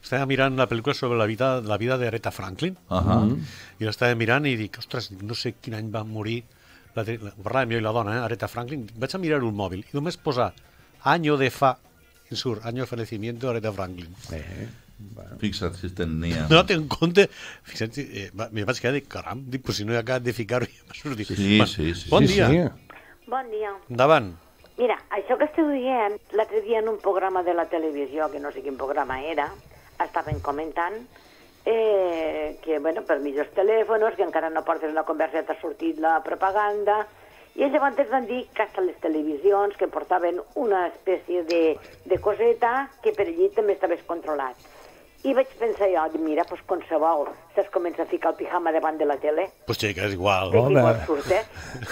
Estava mirant la pel·lícula sobre la vida, la vida d'Aretha Franklin, Uh -huh. i l'estava mirant i dic, ostres, no sé quin any va morir, la, la, parlàvem jo i la dona, eh, Aretha Franklin, vaig a mirar el mòbil i només posar año de fa, i surt, año de fallecimiento d'Aretha Franklin. Eh. Fixa't si tenia... No té en compte, fixa't, eh, va- me vaig quedar de caram, dic, pues si no he acabat de ficar-ho ja m'ha sortit. Sí, Va, sí, sí. Bon Sí, dia, sí. Bon dia. endavant. Mira, això que esteu dient, l'altre dia en un programa de la televisió, que no sé quin programa era, estaven comentant eh, que, bueno, per millors telèfons, que encara no portes la conversa, t'ha sortit la propaganda, i ells llavors van dir que hasta les televisions que portaven una espècie de, de coseta que per allí també estaves controlat. I vaig pensar jo, mira, doncs qualsevol se'ls comença a ficar el pijama davant de la tele, Pues xica, és igual. de Home. igual surtes.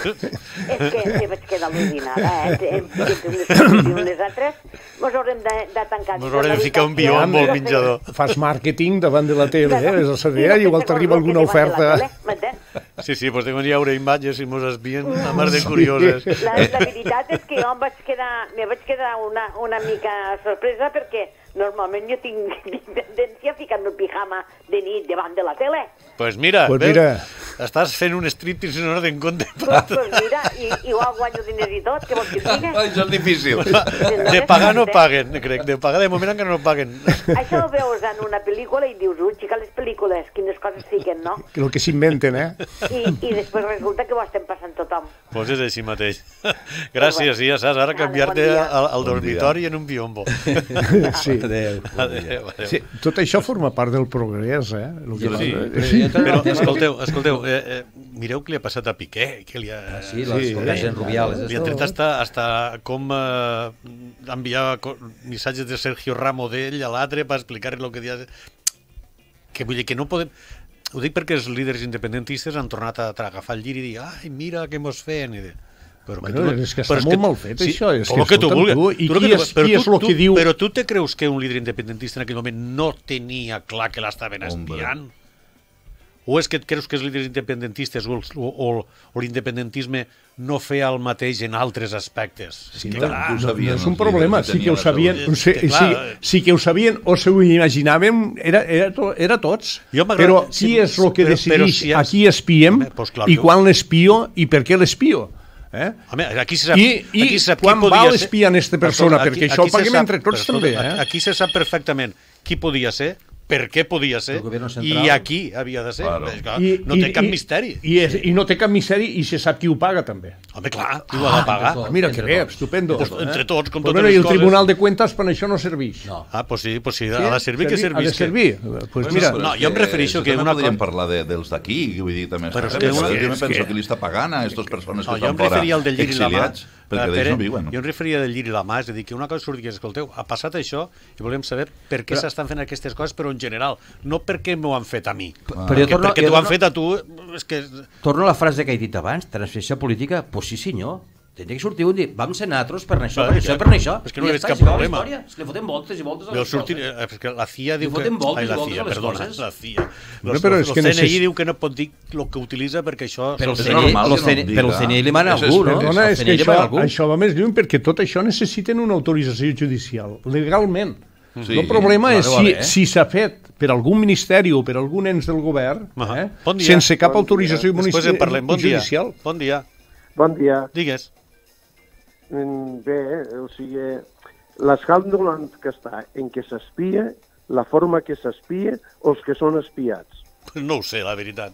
És que me vaig quedar al·lucinada, eh? Entre unes coses i unes altres, mos haurem de, de tancar. Mos haurem de ficar un biombo al menjador. Fas màrqueting davant de la tele, eh? Ves a saber, Sí, igual no sé t'arriba com alguna que davant de la oferta. tele, m'entens? Sí, sí, pues deuen hi haure imatges i mos espien a mar de curioses. La, la veritat és que jo em vaig quedar, me vaig quedar una, una mica sorpresa perquè normalment jo tinc, tinc tendència a ficar-me el pijama de nit davant de la tele. Pues mira, Pues veus? mira. Estàs fent un striptease si no no te'n compte. Pues, pues mira, i, igual guanyo diners i tot, què vols que et digui? Això és difícil. De pagar no paguen, crec. De pagar de moment encara no paguen. Això ho veus en una pel·lícula i dius, ui, xica, les pel·lícules, quines coses fiquen, no? El que s'inventen, eh? I, I després resulta que ho estem passant tothom. Pues és així mateix. Gràcies, i ja saps, ara Vale, canviar-te bon dia. al, al Bon dormitori en un biombo. Sí. Adéu. Adéu, adéu. Sí, tot això forma part del progrés, eh? El que Sí, sí. però escolteu, escolteu, eh, eh, mireu què li ha passat a Piqué, que li ha... Sí, les converses en Rubiales. Li ha tret hasta, hasta com eh, enviar co- missatges de Sergio Ramos d'ell a l'altre per explicar-li el que dia... Que vull dir que no podem... Ho dic perquè els líders independentistes han tornat a agafar el llir i dir ai, mira què mos feien. I dir, però bueno, tu, és que està molt mal fet, sí, això. És que, que tu vulguis. Tu, I tu qui, és, qui és el que diu... Però tu te creus que un líder independentista en aquell moment no tenia clar que l'estaven espiant? O és que et creus que els líders independentistes o, el, o, o, o l'independentisme no feia el mateix en altres aspectes? Sí, és que, no, clar, no, no és un problema, sí que ho sabien, o sí, que, sí, sí que ho sabien o s'ho imaginàvem, era, era, to, era tots. Però qui sí, és el que però, decideix però si has... a qui espiem Home, pues clar, i quan l'espio i per què l'espio? Eh? Home, aquí se sap, I, aquí i se sap quan qui va podia l'espiar en aquesta persona, aquí, perquè això ho paguem sap, entre tots però, també. Eh? Aquí se sap perfectament qui podia ser, per què podia ser i aquí havia de ser. Claro. I, no té i, cap misteri. I, i, I no té cap misteri i se sap qui ho paga també. Home, clar, qui ho ha de pagar. Ah, mira que bé, estupendo. Pues, entre tots, com pues totes bueno, les I el coses. Tribunal de Cuentas per això no serveix. No. Ah, pues sí, pues sí, sí, ha de servir que servís. Ha de servir. Pues mira, no, jo em refereixo que una cosa... Podríem parlar de, dels d'aquí, vull dir, també... Però és que una... Jo me penso que li està pagant a aquestes persones que no, estan fora exiliats, perquè d'ells no viuen. Jo em referia del llir i la mà, és a dir, que una cosa surt i que, escolteu, ha passat això i volem saber per què s'estan fent aquestes coses, però en general, no perquè m'ho han fet a mi. Però jo torno, perquè t'ho han fet a tu, és que... Torno a la frase que he dit abans, transferència política, pues sí senyor. Tenia que sortir un dia, vam ser nosaltres per això, per això, per això. És que no hi ha cap problema. És que li fotem voltes i voltes a les coses. És que la C I A diu que... Li fotem voltes i voltes a les perdona, coses. la C I A. El C N I diu que no pot dir el que utilitza perquè això... Però el C N I li mana algú, no? Perdona, és que això va més lluny perquè tot això necessiten una autorització judicial, legalment. Sí, el problema és si, eh? si s'ha fet per algun ministeri o per algun ens del govern, eh, bon sense cap bon autorització judicial. Bon dia. Bon dia. Bon dia. Digues. Bé, o sigui, l'escàndol que està en què s'espia, la forma que s'espia o els que són espiats. No ho sé, la veritat.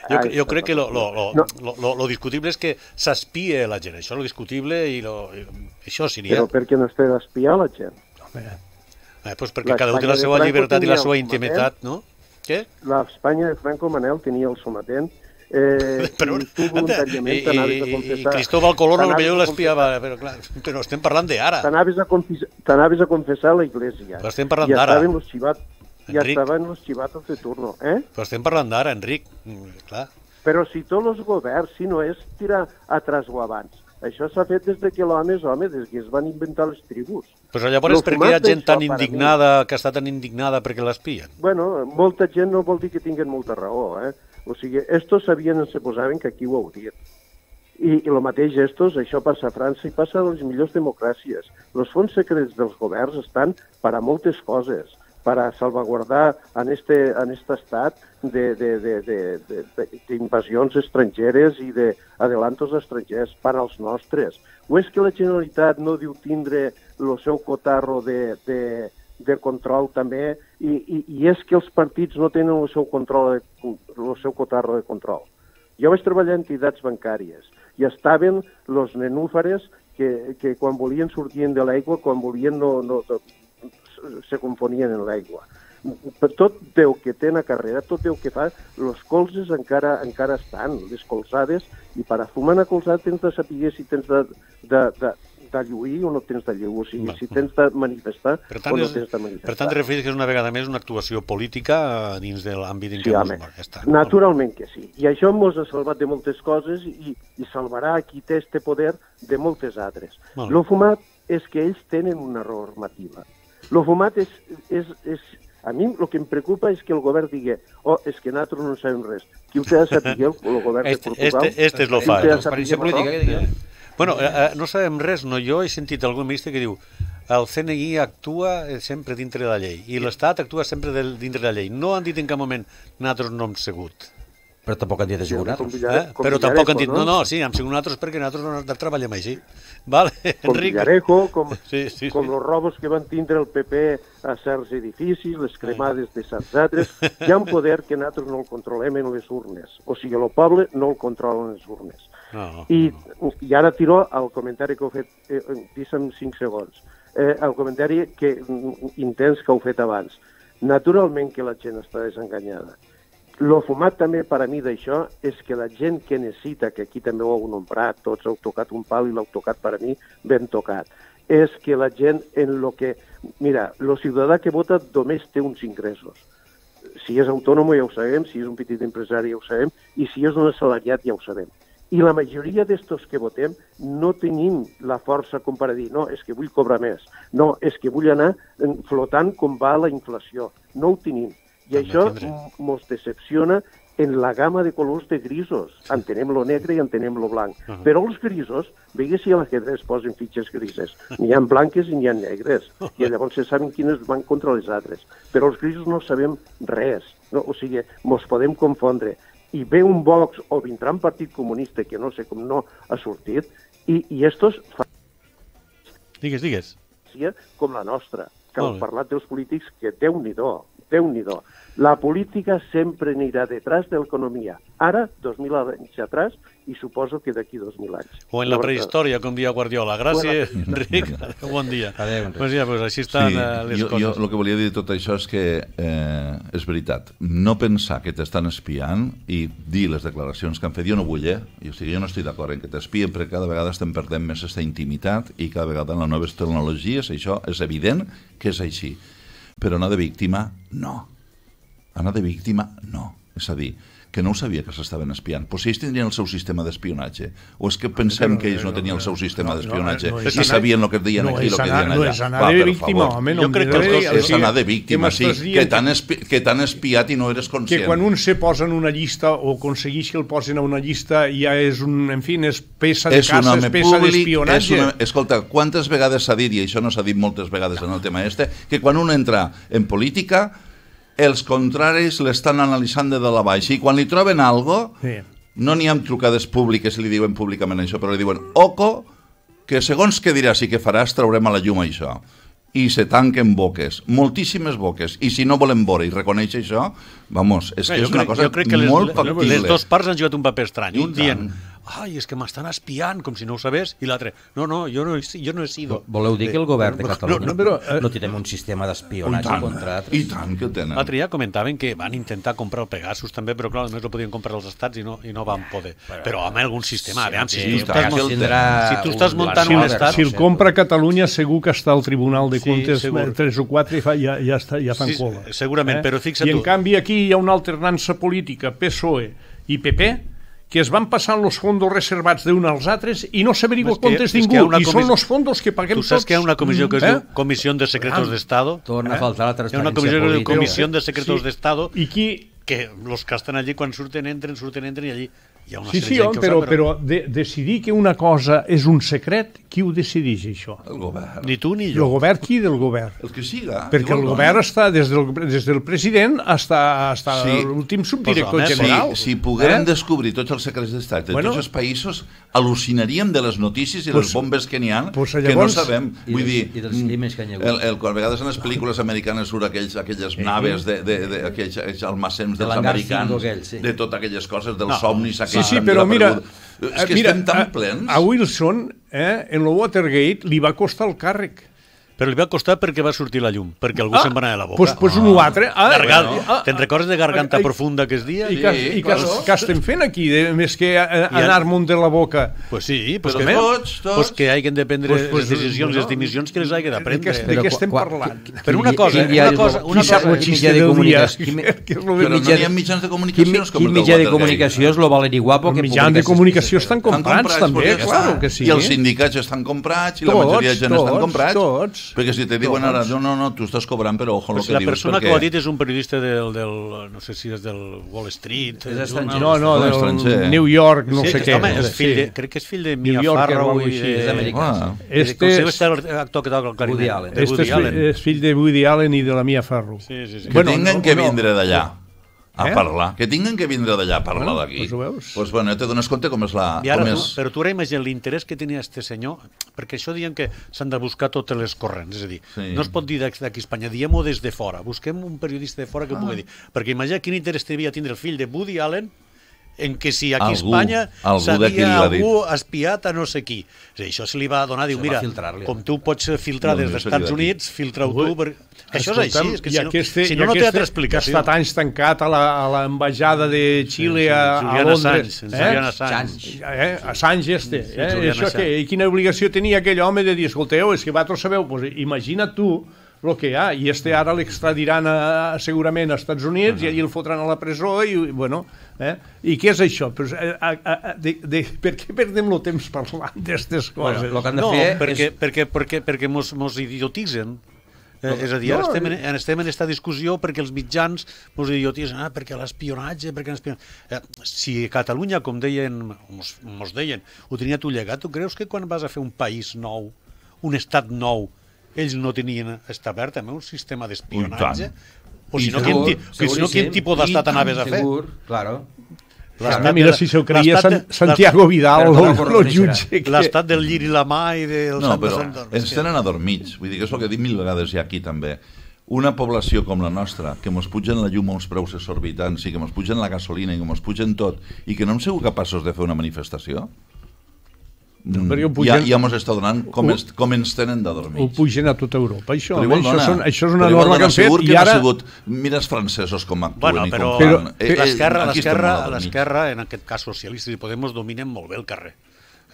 Jo, jo crec que lo, lo, lo, no. lo, lo, lo discutible és que s'espia la gent. Això és lo discutible i, lo, i això seria... Però per què no es té d'espiar la gent? Eh, pues perquè cada un té la seva llibertat i la seva intimitat, no? Què? L'Espanya de Franco Manel tenia el sometent. Eh, però, i tu voluntàriament t'anaves a confessar... I Cristóbal Colón potser l'espiava, però clar, però estem parlant d'ara. T'anaves a, a confessar a la Iglesia. Però estem parlant d'ara. I estaven los xivat, ja estaven los chivatos de turno, eh? Però estem parlant d'ara, Enric, clar. Però si tots els governs, si no és tirar atrás o abans, això s'ha fet des de que l'home és home, des que es van inventar les tribus. Però llavors per què hi ha gent tan indignada, que està tan indignada perquè l'espien? Bueno, molta gent no vol dir que tinguin molta raó, eh? O sigui, estos sabien, se posaven que aquí ho heu dit. I, i el mateix estos, això passa a França i passa a les millors democràcies. Els fons secrets dels governs estan per a moltes coses, per a salvaguardar en este, en este estat d'invasions estrangeres i d'adelantos estrangers per als nostres. O és que la Generalitat no diu tindre el seu cotarro de... de de control també, i, i, i és que els partits no tenen el seu control, el seu cotarro de control. Jo vaig treballar en entitats bancàries i estaven els nenúfares que, que quan volien sortien de l'aigua, quan volien no, no, se confonien en l'aigua. Tot Déu que té una carrera, tot Déu que fa, els colzes encara encara estan, les colzades, i per a fumar una colzada tens de saber si tens de, de, de de lluir o no tens de lluir, o sigui, si tens de manifestar o no tens de manifestar. Per tant, refereix que és una vegada més una actuació política dins de l'àmbit en què ens movem. Naturalment que sí. I això ens ha salvat de moltes coses i, i salvarà qui té este poder de moltes altres. Lo fumat és que ells tenen una normativa. Lo fumat és... és, és a mi el que em preocupa és que el govern digui oh, és que nosaltres no en sabem res. Qui ho té de saber el, el govern de Portugal? Este, este és lo fa. Transparència política, què digui? Bueno, eh, no sabem res, no? Jo he sentit algun ministre que diu el C N I actua sempre dintre de la llei i l'Estat actua sempre de, dintre de la llei. No han dit en cap moment nosaltres no hem sigut. Però tampoc han dit de sigut nosaltres. Eh? Però tampoc han dit, no, no, sí, hem sigut nosaltres perquè nosaltres no treballem així. Vale, com Enric? Villarejo, com, sí, sí, sí. com els robos que van tindre el P P a certs edificis, les cremades de certs altres. Hi ha un poder que nosaltres no el controlem en les urnes. O sigui, el poble no el controla en les urnes. No, I, I ara tiro al comentari que heu fet, eh, deixa'm cinc segons, eh, el comentari que, intens que heu fet abans. Naturalment que la gent està desenganyada. Lo fumat també per a mi d'això és que la gent que necessita, que aquí també ho heu nombrat, tots heu tocat un pal i l'heu tocat per a mi ben tocat, és que la gent en lo que... Mira, el ciutadà que vota només té uns ingressos. Si és autònom ja ho sabem, si és un petit empresari ja ho sabem, i si és un assalariat ja ho sabem. I la majoria d'estos que votem no tenim la força com per dir no, és que vull cobrar més, no, és que vull anar flotant com va la inflació. No ho tenim. I això ens decepciona en la gamma de colors de grisos. Entenem lo negre i entenem lo blanc. Uh -huh. Però els grisos, veigues si a l'ajedrez posen fitxes grises. N'hi ha blanques i n'hi ha negres. I llavors se saben quines van contra les altres. Però els grisos no sabem res. No? O sigui, mos podem confondre. I ve un Vox o vindrà un partit comunista que no sé com no ha sortit, i, i estos fan... Digues, digues. Com la nostra, que heu parlat dels polítics, que Déu-n'hi-do, Déu-n'hi-do. La política sempre anirà detrás de l'economia. Ara, dos mil anys atrás, i suposo que d'aquí dos mil anys. O en la prehistòria, com dia Guardiola. Gràcies, bueno. Enric. Bon dia. Adéu, Enric. Pues ja, pues així estan sí, les jo, coses. Jo el que volia dir de tot això és que eh, és veritat. No pensar que t'estan espiant i dir les declaracions que han fet. Jo no vull, eh? O sigui, jo no estic d'acord en que t'espien, perquè cada vegada estem perdent més aquesta intimitat i cada vegada en les noves tecnologies això és evident que és així. Però anar de víctima, no. Anar de víctima, no. És a dir, que no ho sabia que s'estaven espiant. Però si ells tindrien el seu sistema d'espionatge, o és que pensem que ells no tenien el seu sistema d'espionatge i sabien el que deien aquí i el que deien allà? No és anar de víctima, home. Jo crec que és anar de víctima, sí, que t'han espiat i no eres conscient. Que quan un se posa en una llista o aconsegueix que el posin a una llista ja és un, en fi, és peça de caça, és peça d'espionatge. Escolta, quantes vegades s'ha dit, i això no s'ha dit moltes vegades en el tema este, que quan un entra en política els contraris l'estan analitzant de dalt a baix i quan li troben algo, sí. No n'hi ha trucades públiques i li diuen públicament això, però li diuen, oco, que segons què diràs i què faràs traurem a la llum això. I se tanquen boques, moltíssimes boques, i si no volem veure i reconèixer això, vamos, és que Bé, és una crec, cosa molt factible. Les dues parts han jugat un paper estrany, un dient ai, és que m'estan espiant, com si no ho sabés, i l'altre, no, no, jo no, jo no he sido. Voleu dir que el govern de Catalunya no, no, però, eh, no tenim un sistema d'espionatge contra altres? I tant que tenen. L'altre dia comentaven que van intentar comprar el Pegasus també, però clar, només el podien comprar els estats i no, i no van poder. Però, però home, algun sistema, sí, aviam, si, sí, tu estàs, si, si tu estàs muntant un estat... Si el compra Catalunya, segur que està al Tribunal de Comptes sí, tres o quatre i fa, ja, ja, està, ja fan sí, cola. Segurament, eh? Però fixa't tu... I en canvi aquí hi ha una alternança política, P S O E i P P, que es van passant els fondos reservats d'un als altres i no s'averigua comptes ningú, i són els fondos que paguem tots. Tu saps que hi ha una comissió que es diu Comissió de Secretos d'Estado? Torna a faltar la transparència política. Hi ha una comissió que es diu Comissió de Secretos sí. d'Estado i qui... que els que estan allí quan surten, entren, surten, entren i allí hi ha una sí, sèrie sí, de gent que però, ho sap, però de, decidir que una cosa és un secret, qui ho decideix això? El govern. Ni tu ni jo. El govern, qui del govern? El que siga. Perquè el govern està des del, des del president fins a sí. l'últim subdirector pues, general. Si, si poguérem eh? descobrir tots els secrets d'estat de bueno, tots els països, al·lucinaríem de les notícies i pues, les bombes que n'hi ha, pues, que llavors, no sabem. I, Vull dir, i dels crímens que hi ha hagut. El, el, quan a vegades en les pel·lícules americanes surt aquells, aquelles eh? naves, de, de, de, aquells, aquells almacems dels de americans, aquell, sí. de totes aquelles coses, dels no. somnis aquells. Sí, sí, però mira, és que mira, estem tan a, plens. A Wilson, eh, en el Watergate, li va costar el càrrec. Però li va costar perquè va sortir la llum, perquè algú ah, se'n va anar a la boca. Pues, pues un altre. Ah, Gargant, bueno, ah, te'n recordes de Garganta ah, Profunda que es dia? I, que, sí, i que, que estem fent aquí, de, més que anar-me'n de la boca? Pues sí, pues però que, tots, tots. Pues que hagin de prendre pues, pues, les decisions, no, les dimissions que les hagin de prendre. De, de què estem parlant? Però una cosa, una cosa... Una cosa quin mitjà de comunicació... Però no hi ha mitjans de comunicació com Quin mitjà de comunicació és lo Valeri Guapo? Els mitjans de comunicació estan comprats també, claro que sí. I els sindicats estan comprats i la majoria de gent estan comprats. Perquè si te diuen ara, no, no, no, tu estàs cobrant, però ojo el que dius. La persona que ho ha dit és un periodista del, del no sé si és del Wall Street. És estranger. No, no, del New York, no sé què. Home, crec que és fill de Mia Farrow i és americà. Este és l'actor que toca el clarinet. Este és fill de Woody Allen i de la Mia Farrow. Que tinguen que vindre d'allà a eh? parlar, que tinguen que vindre d'allà a parlar bueno, d'aquí. Doncs pues bueno, te dones compte com és la... I ara, com tu, és... però tu ara imagina l'interès que tenia este senyor, perquè això diuen que s'han de buscar totes les corrents, és a dir, sí. no es pot dir d'aquí a Espanya, diem-ho des de fora, busquem un periodista de fora que ah. pugui dir, perquè imagina quin interès devia tindre el fill de Woody Allen en que si aquí a Espanya s'havia algú espiat a no sé qui. És a dir, això se li va donar, diu, mira, com tu pots filtrar no, des dels Estats Units, filtra-ho tu... Per... Això és així, és que si no, este, si no, no té altra explicació. Que ha estat anys tancat a l'ambaixada de Xile sí, sí, a, a Londres. Sanz, eh? Julian Assange. Eh? Assange este. Eh? Sí, això que, I quina obligació tenia aquell home de dir, escolteu, és que vosaltres sabeu, pues, imagina tu el que hi ha, i este ara l'extradiran a, segurament als Estats Units, uh -huh. i allí el fotran a la presó, i bueno, eh? I què és això? Pues, a, a, a, de, de, per què perdem el temps parlant d'aquestes coses? Bueno, lo que han de no, fer perquè, és... perquè, perquè, perquè mos, mos idiotitzen. Eh, és a dir, ara no, estem, en, estem en aquesta discussió perquè els mitjans mos idiotitzen, ah, perquè l'espionatge, perquè l'espionatge... Eh, si Catalunya, com deien, mos, mos deien, ho tenia tu llegat, tu creus que quan vas a fer un país nou, un estat nou, ells no tenien establert també un sistema d'espionatge? O si no, quin, si no, quin tipus d'estat anaves a fer? Segur, claro. Ah, mira, si s'ho creia San, Santiago Vidal, el jutge. L'estat del llir i la mà i del no, Sant però Sant ens tenen adormits. Vull dir que és el que he dit mil vegades ja aquí també. Una població com la nostra, que mos pugen la llum a uns preus exorbitants i que mos pugen la gasolina i que mos pugen tot i que no hem sigut capaços de fer una manifestació, no, pugen, ja, ja mos està donant com, es, com ens tenen d'adormits. Ho pugen a tota Europa, això. Igual, això, dona, són, això és una norma que han fet i i ara... No sigut, mira els francesos com actuen bueno, i però, com però, fan. Eh, l'esquerra, l'esquerra, en aquest cas socialistes i Podemos, dominen molt bé el carrer.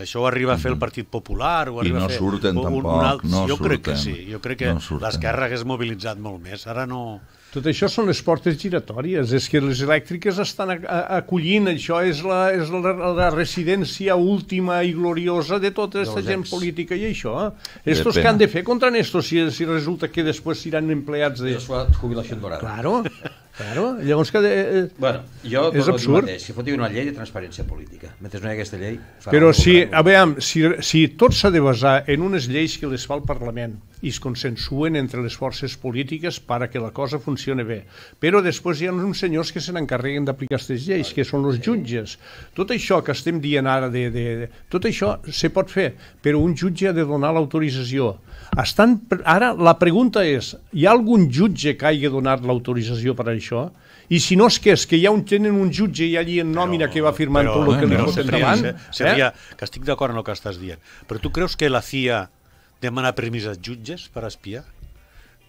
Això ho arriba a fer el Partit Popular, ho arriba I no a fer surten un, tampoc, un alt... no jo surten. crec que sí, jo crec que No l'esquerra hagués mobilitzat molt més. Ara no... Tot això són les portes giratòries, és que les elèctriques estan a, a, acollint, això és, la, és la, la residència última i gloriosa de tota aquesta gent política i això. Eh? Estos que han de fer contra estos si, si resulta que després seran empleats de... És la jubilació dorada. Claro, claro. Llavors que... Eh, bueno, jo és absurd. Mateix, si fotin una llei de transparència política, mentre no hi ha aquesta llei... Però si, a veure, si, si tot s'ha de basar en unes lleis que les fa el Parlament i es consensuen entre les forces polítiques perquè la cosa funcioni bé. Però després hi ha uns senyors que se n'encarreguen d'aplicar aquestes lleis, que són els jutges. Tot això que estem dient ara, de, de, de, tot això se pot fer, però un jutge ha de donar l'autorització. Estan, ara la pregunta és, hi ha algun jutge que hagi donat l'autorització per a això? I si no és que és que hi ha un, tenen un jutge i allí en nòmina però, que va firmant però, tot el que li pot endavant? Seria, eh? Que estic d'acord en el que estàs dient, però tu creus que la C I A demana permís als jutges per espiar?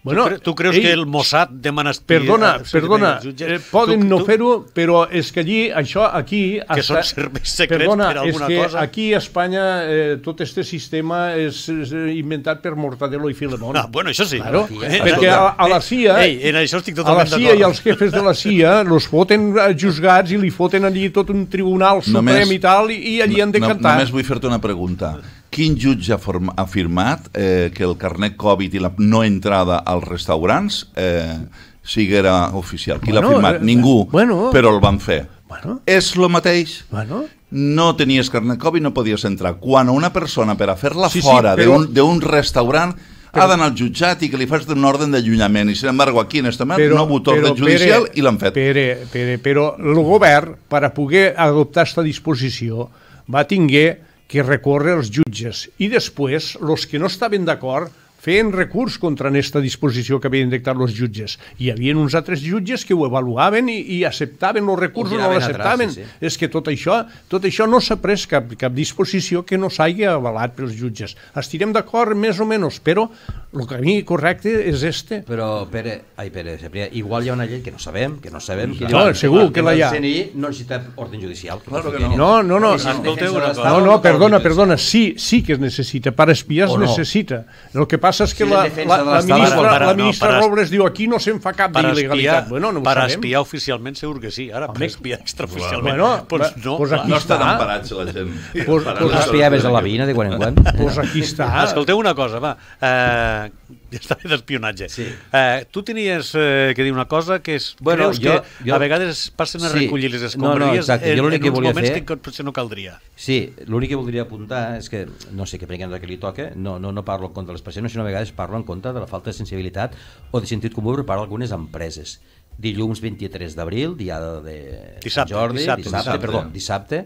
Bueno, tu, cre tu creus ell, que el Mossad demana espiar? Perdona, perdona, eh, poden tu, no fer-ho, però és que allí, això aquí... Que hasta, són serveis secrets perdona, per alguna cosa? Perdona, és que cosa? aquí a Espanya eh, tot este sistema és, és inventat per Mortadelo i Filemón. Ah, bueno, això sí. Claro, eh, perquè a, a la C I A, Ei, en això estic a la totalment C I A i els jefes de la C I A los foten juzgats i li foten allí tot un tribunal suprem només, i tal, i, i allí han de cantar. No, només vull fer-te una pregunta. Quin jutge ha afirmat eh, que el carnet Covid i la no entrada als restaurants eh, siguera oficial? Qui bueno, l'ha afirmat? Eh, Ningú, bueno, però el van fer. Bueno, és el mateix. Bueno. No tenies carnet Covid, no podies entrar. Quan una persona, per a fer-la sí, fora sí, però... d'un restaurant, però... ha d'anar al jutjat i que li fas un ordre d'allunyament. I, sin embargo, aquí en este moment no ha hagut ordre judicial i l'han fet. Pere, Pere, però el govern, per a poder adoptar aquesta disposició, va tinguer que recórrer els jutges i després, els que no estaven d'acord, feien recurs contra aquesta disposició que havien dictat els jutges. Hi havia uns altres jutges que ho avaluaven i, i acceptaven els recursos o no l'acceptaven. Sí, sí. És que tot això, tot això no s'ha pres cap, cap disposició que no s'hagi avalat pels jutges. Estirem d'acord més o menys, però el camí correcte és este. Però, Pere, ai, Pere, Cebrià, igual hi ha una llei que no sabem, que no sabem... Que no, segur que la hi ha. El C N I no necessita ordre judicial. Claro que no. No, no, no. No, no, perdona, perdona, sí, sí que es necessita. Per espiar es necessita. El que passa és que la, la, la ministra, para, la ministra no, Robles diu aquí no se'n fa cap d'il·legalitat. Bueno, no per espiar oficialment segur que sí. Ara, per espiar extraoficialment, bueno, pues no. Pues aquí no està. estan emparats la gent. Pues, pues espiaves a la veïna de quan en quan. Pues aquí està. Escolteu una cosa, va. Eh, ja està bé d'espionatge. Sí. Eh, tu tenies eh, que dir una cosa que és... Bueno, creus jo, que jo... a vegades passen a recollir sí. les escombraries no, no, en, en uns que moments fer... que potser no caldria. Sí, l'únic que voldria apuntar és que, no sé què prenguem que li toca, no, no, no parlo en contra de les persones, sinó a vegades parlo en contra de la falta de sensibilitat o de sentit comú per part d'algunes empreses. Dilluns vint-i-tres d'abril, dia de dissabte, Sant Jordi, dissabte, dissabte, dissabte, perdó, dissabte,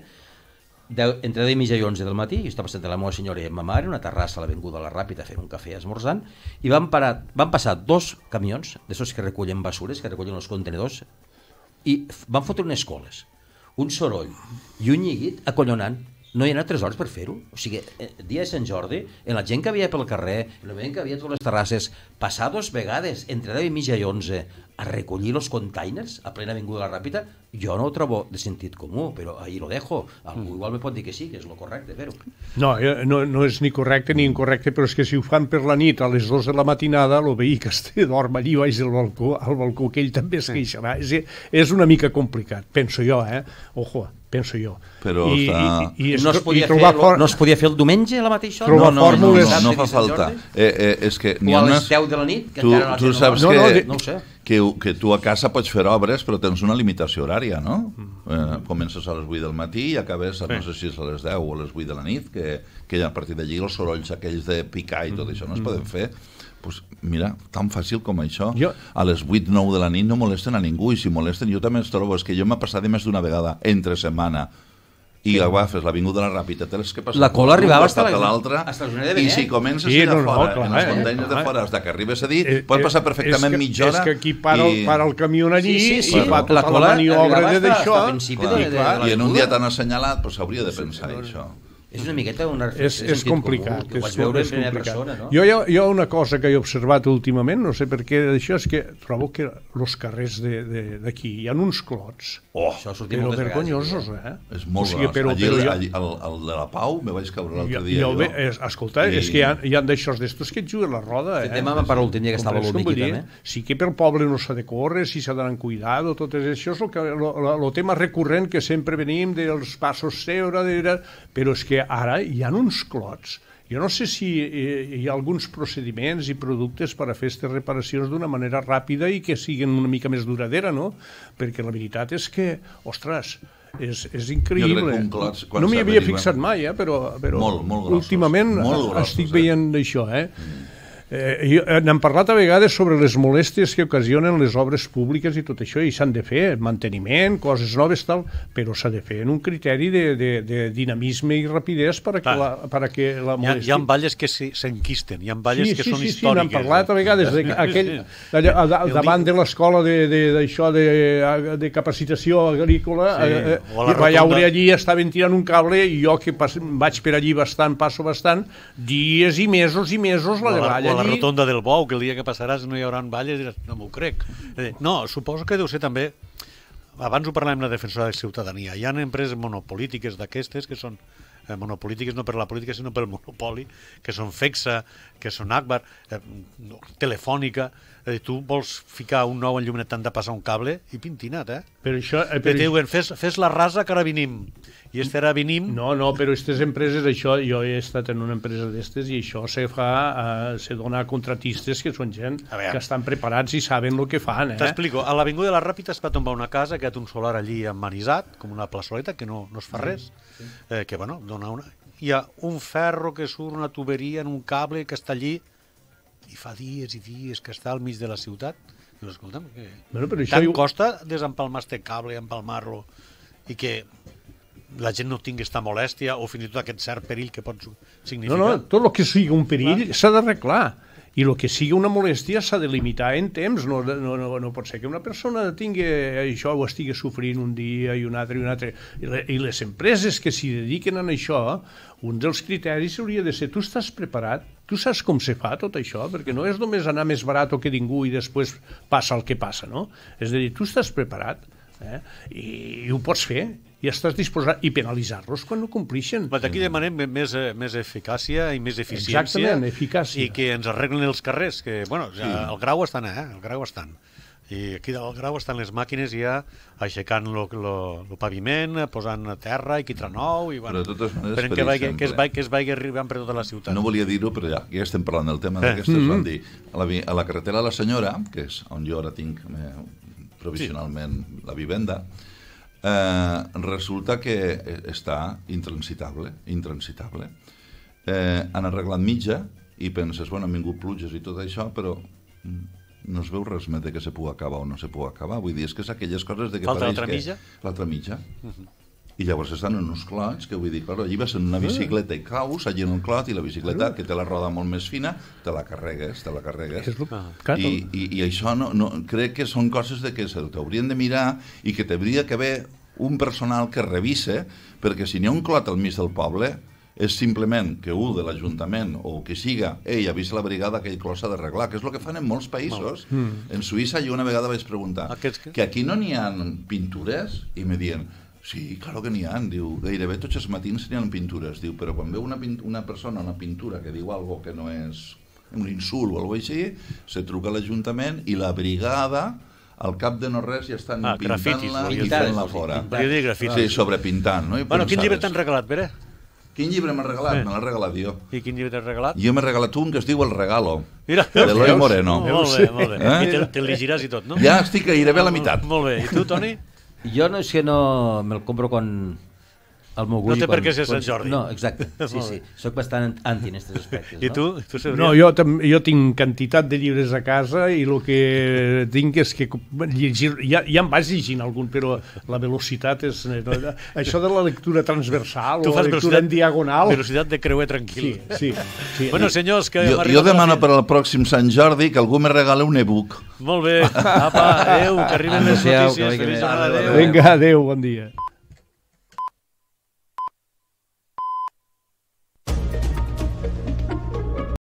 de, entre deu i mitja i onze del matí, jo estava passant de la meva senyora i ma mare, una terrassa a l'Avinguda La Ràpita fent un cafè esmorzant, i van, parar, van passar dos camions, d'aixòs que recullen basures, que recullen els contenedors, i van fotre unes coles, un soroll i un lliguit acollonant. no hi ha tres hores per fer-ho. O sigui, el dia de Sant Jordi, en la gent que havia pel carrer, en la gent que havia a totes les terrasses, passar dos vegades, entre deu i mitja i onze, a recollir els containers a plena avinguda de la Ràpita, jo no ho trobo de sentit comú, però ahí lo dejo. Algú igual me pot dir que sí, que és lo correcte fer-ho. No, no, no és ni correcte ni incorrecte, però és que si ho fan per la nit a les dues de la matinada, el veí que este dorm allí baix del balcó, al balcó, que ell també es queixarà. És, és una mica complicat, penso jo, eh? Ojo, penso jo. Però I, està... i, i no, es podia i fer, for... no es podia fer el diumenge a la mateixa hora? No, no, no, no, no, no fa falta. Eh, eh, és que o a les deu de la nit, que tu, encara tu saps no, que, no, no ho sé. que, que tu a casa pots fer obres, però tens una limitació horària, no? Eh, comences a les vuit del matí i acabes, no sé si és a les deu o a les vuit de la nit, que, que a partir d'allí els sorolls aquells de picar i tot això no es poden fer. Pues mira, tan fàcil com això, jo... a les vuit o nou de la nit no molesten a ningú, i si molesten jo també els trobo, és que jo m'ha passat més d'una vegada entre setmana i sí. agafes l'avinguda de la Ràpita, tens que passar la cola arribava fins a l'altra, i si comences sí, allà no, no, fora, clar, en els eh, containers de fora, hasta que arribes a dir, eh, pot passar perfectament que, mitja hora. És que aquí para, i... el, para el camió allí sí, sí, sí. i fa tota la, la maniobra d'això. I en un dia tan assenyalat s'hauria de pensar sí, això. És una miqueta una és, és complicat, comú, que ho vaig és, veure és en primera complicat. persona, no? Jo, jo, jo una cosa que he observat últimament, no sé per què d'això, és que trobo que els carrers d'aquí hi ha uns clots, oh, però vergonyosos, eh? És molt o sigui, però, allí, però jo... allí, el, el de la Pau me vaig caure l'altre dia. Jo, jo. És, escolta, I... és que hi ha, hi ha d'aixòs d'estos que et juguen la roda, eh? Demà m'ha parlat l'últim dia que estava l'únic també. Sí que pel poble no s'ha de córrer, si s'ha d'anar amb cuidado, tot això és el, que, el, el tema recurrent que sempre venim dels passos seure, de, però és que ara hi ha uns clots. Jo no sé si hi ha alguns procediments i productes per a fer aquestes reparacions d'una manera ràpida i que siguin una mica més duradera, no? Perquè la veritat és que, ostres, és, és increïble. Clot, no m'hi havia fixat mai, eh? però, però molt, molt grossos, últimament molt grossos, estic veient eh? això, eh? Mm. Eh, n'hem parlat a vegades sobre les molèsties que ocasionen les obres públiques i tot això, i s'han de fer, manteniment, coses noves, tal, però s'ha de fer en un criteri de, de, de dinamisme i rapidesa per a que la, per a que la molèstia... Hi ha, hi ha valles que s'enquisten, hi ha valles sí, que sí, són sí, històriques. Sí, n'hem parlat a vegades, de, aquell, allà, a, davant de l'escola d'això de, de, de capacitació agrícola, sí, eh, eh, veure allí estaven tirant un cable i jo que pas, vaig per allí bastant, passo bastant, dies i mesos i mesos la de balla. La rotonda del Bou, que el dia que passaràs no hi haurà valles, diràs, no m'ho crec. No, suposo que deu ser també, abans ho parlàvem de defensora de ciutadania, hi ha empreses monopolítiques d'aquestes que són eh, monopolítiques no per la política sinó pel monopoli, que són Fexa, que són Agbar, eh, Telefònica, eh, tu vols ficar un nou enllumenat, t'han de passar un cable i pintinat, eh? Per això... Eh, per diuen, fes, fes la rasa que ara venim. I este ara venim... No, no, però aquestes empreses, això, jo he estat en una empresa d'estes i això se fa, eh, se dona a contratistes que són gent que estan preparats i saben el que fan, eh? T'explico, a l'Avinguda de la Ràpita es va tombar una casa que ha un solar allí emmanisat, com una plaçoleta, que no, no es fa res, sí. eh, que, bueno, dona una... Hi ha un ferro que surt, una tuberia en un cable que està allí, i fa dies i dies que està al mig de la ciutat. Dius, escolta'm, que bueno, tant jo... costa desempalmar este cable, empalmar-lo, i que la gent no tingui aquesta molèstia o fins i tot aquest cert perill que pot significar. No, no, tot el que sigui un perill s'ha d'arreglar. I el que sigui una molèstia s'ha de limitar en temps. No, no, no, no pot ser que una persona tingui això o estigui sofrint un dia i un altre i un altre. I les empreses que s'hi dediquen a això, un dels criteris hauria de ser tu estàs preparat, tu saps com se fa tot això, perquè no és només anar més barat que ningú i després passa el que passa, no? És a dir, tu estàs preparat eh? I, i ho pots fer i estàs disposat i penalitzar-los quan no complixen. Aquí demanem més, més eficàcia i més eficiència. Exactament, eficàcia. I que ens arreglen els carrers, que, bueno, ja, sí. El grau estan, eh? El grau estan. I aquí al grau estan les màquines ja aixecant el paviment, posant a terra i quitrà nou, i bueno, esperem que, vagi, que, es vagi, que es vagi arribant per tota la ciutat. No volia dir-ho, però ja, ja estem parlant del tema d'aquestes, eh. van dir, a la, a la carretera de la Senyora, que és on jo ara tinc eh, provisionalment sí. la vivenda, Eh, resulta que està intransitable, intransitable. Eh, han arreglat mitja i penses, bueno, han vingut pluges i tot això, però no es veu res més de que se pugui acabar o no se pugui acabar. Vull dir, és que és aquelles coses de que falta pareix l'altra que... mitja? L'altra mitja. Uh-huh. I llavors estan en uns clots, que vull dir, clar, allí vas en una bicicleta i caus, allí en un clot, i la bicicleta, que té la roda molt més fina, te la carregues, te la carregues. Ah. I, i, I això no, no, crec que són coses de que se t'haurien de mirar i que t'hauria que haver un personal que revise, perquè si n'hi ha un clot al mig del poble, és simplement que un de l'Ajuntament o que siga, ei, avisa la brigada que aquell clos s'ha d'arreglar, que és el que fan en molts països. Mm. En Suïssa jo una vegada vaig preguntar Aquests que... que aquí no n'hi ha pintures, i me diuen, sí, claro que n'hi ha, diu, gairebé tots els matins n'hi ha pintures, diu, però quan veu una, una persona, una pintura que diu algo que no és un insult o alguna cosa així, se truca a l'Ajuntament i la brigada al cap de no res ja estan ah, pintant-la i fent-la fora. Sí, sobrepintant, no? I bueno, quin llibre t'han regalat, Pere? Quin llibre m'ha regalat? Eh. Me l'ha regalat jo. I quin llibre t'has regalat? Jo m'he regalat un que es diu El Regalo, Mira, de Eloi Moreno. Oh, molt bé, molt bé. Eh? I te'l te llegiràs i tot, no? Ja estic gairebé a la meitat. Molt bé. I tu, Toni? Jo no és que no me'l compro quan... El meu no té per què ser Sant Jordi. No, exacte, sí, sí. Soc bastant anti en aquests aspectes. I tu? tu no, jo, jo tinc quantitat de llibres a casa i el que tinc és que llegir, ja, ja em vaig llegint algun, però la velocitat és... No, això de la lectura transversal o la lectura en diagonal... Velocitat de creuer tranquil. Sí, sí. sí. Bueno, senyors, que... Jo, jo demano per al pròxim Sant Jordi que algú me regala un e-book. Molt bé. Apa, adéu, que arriben les notícies. Feliç jornada. Vinga, adéu, bon dia.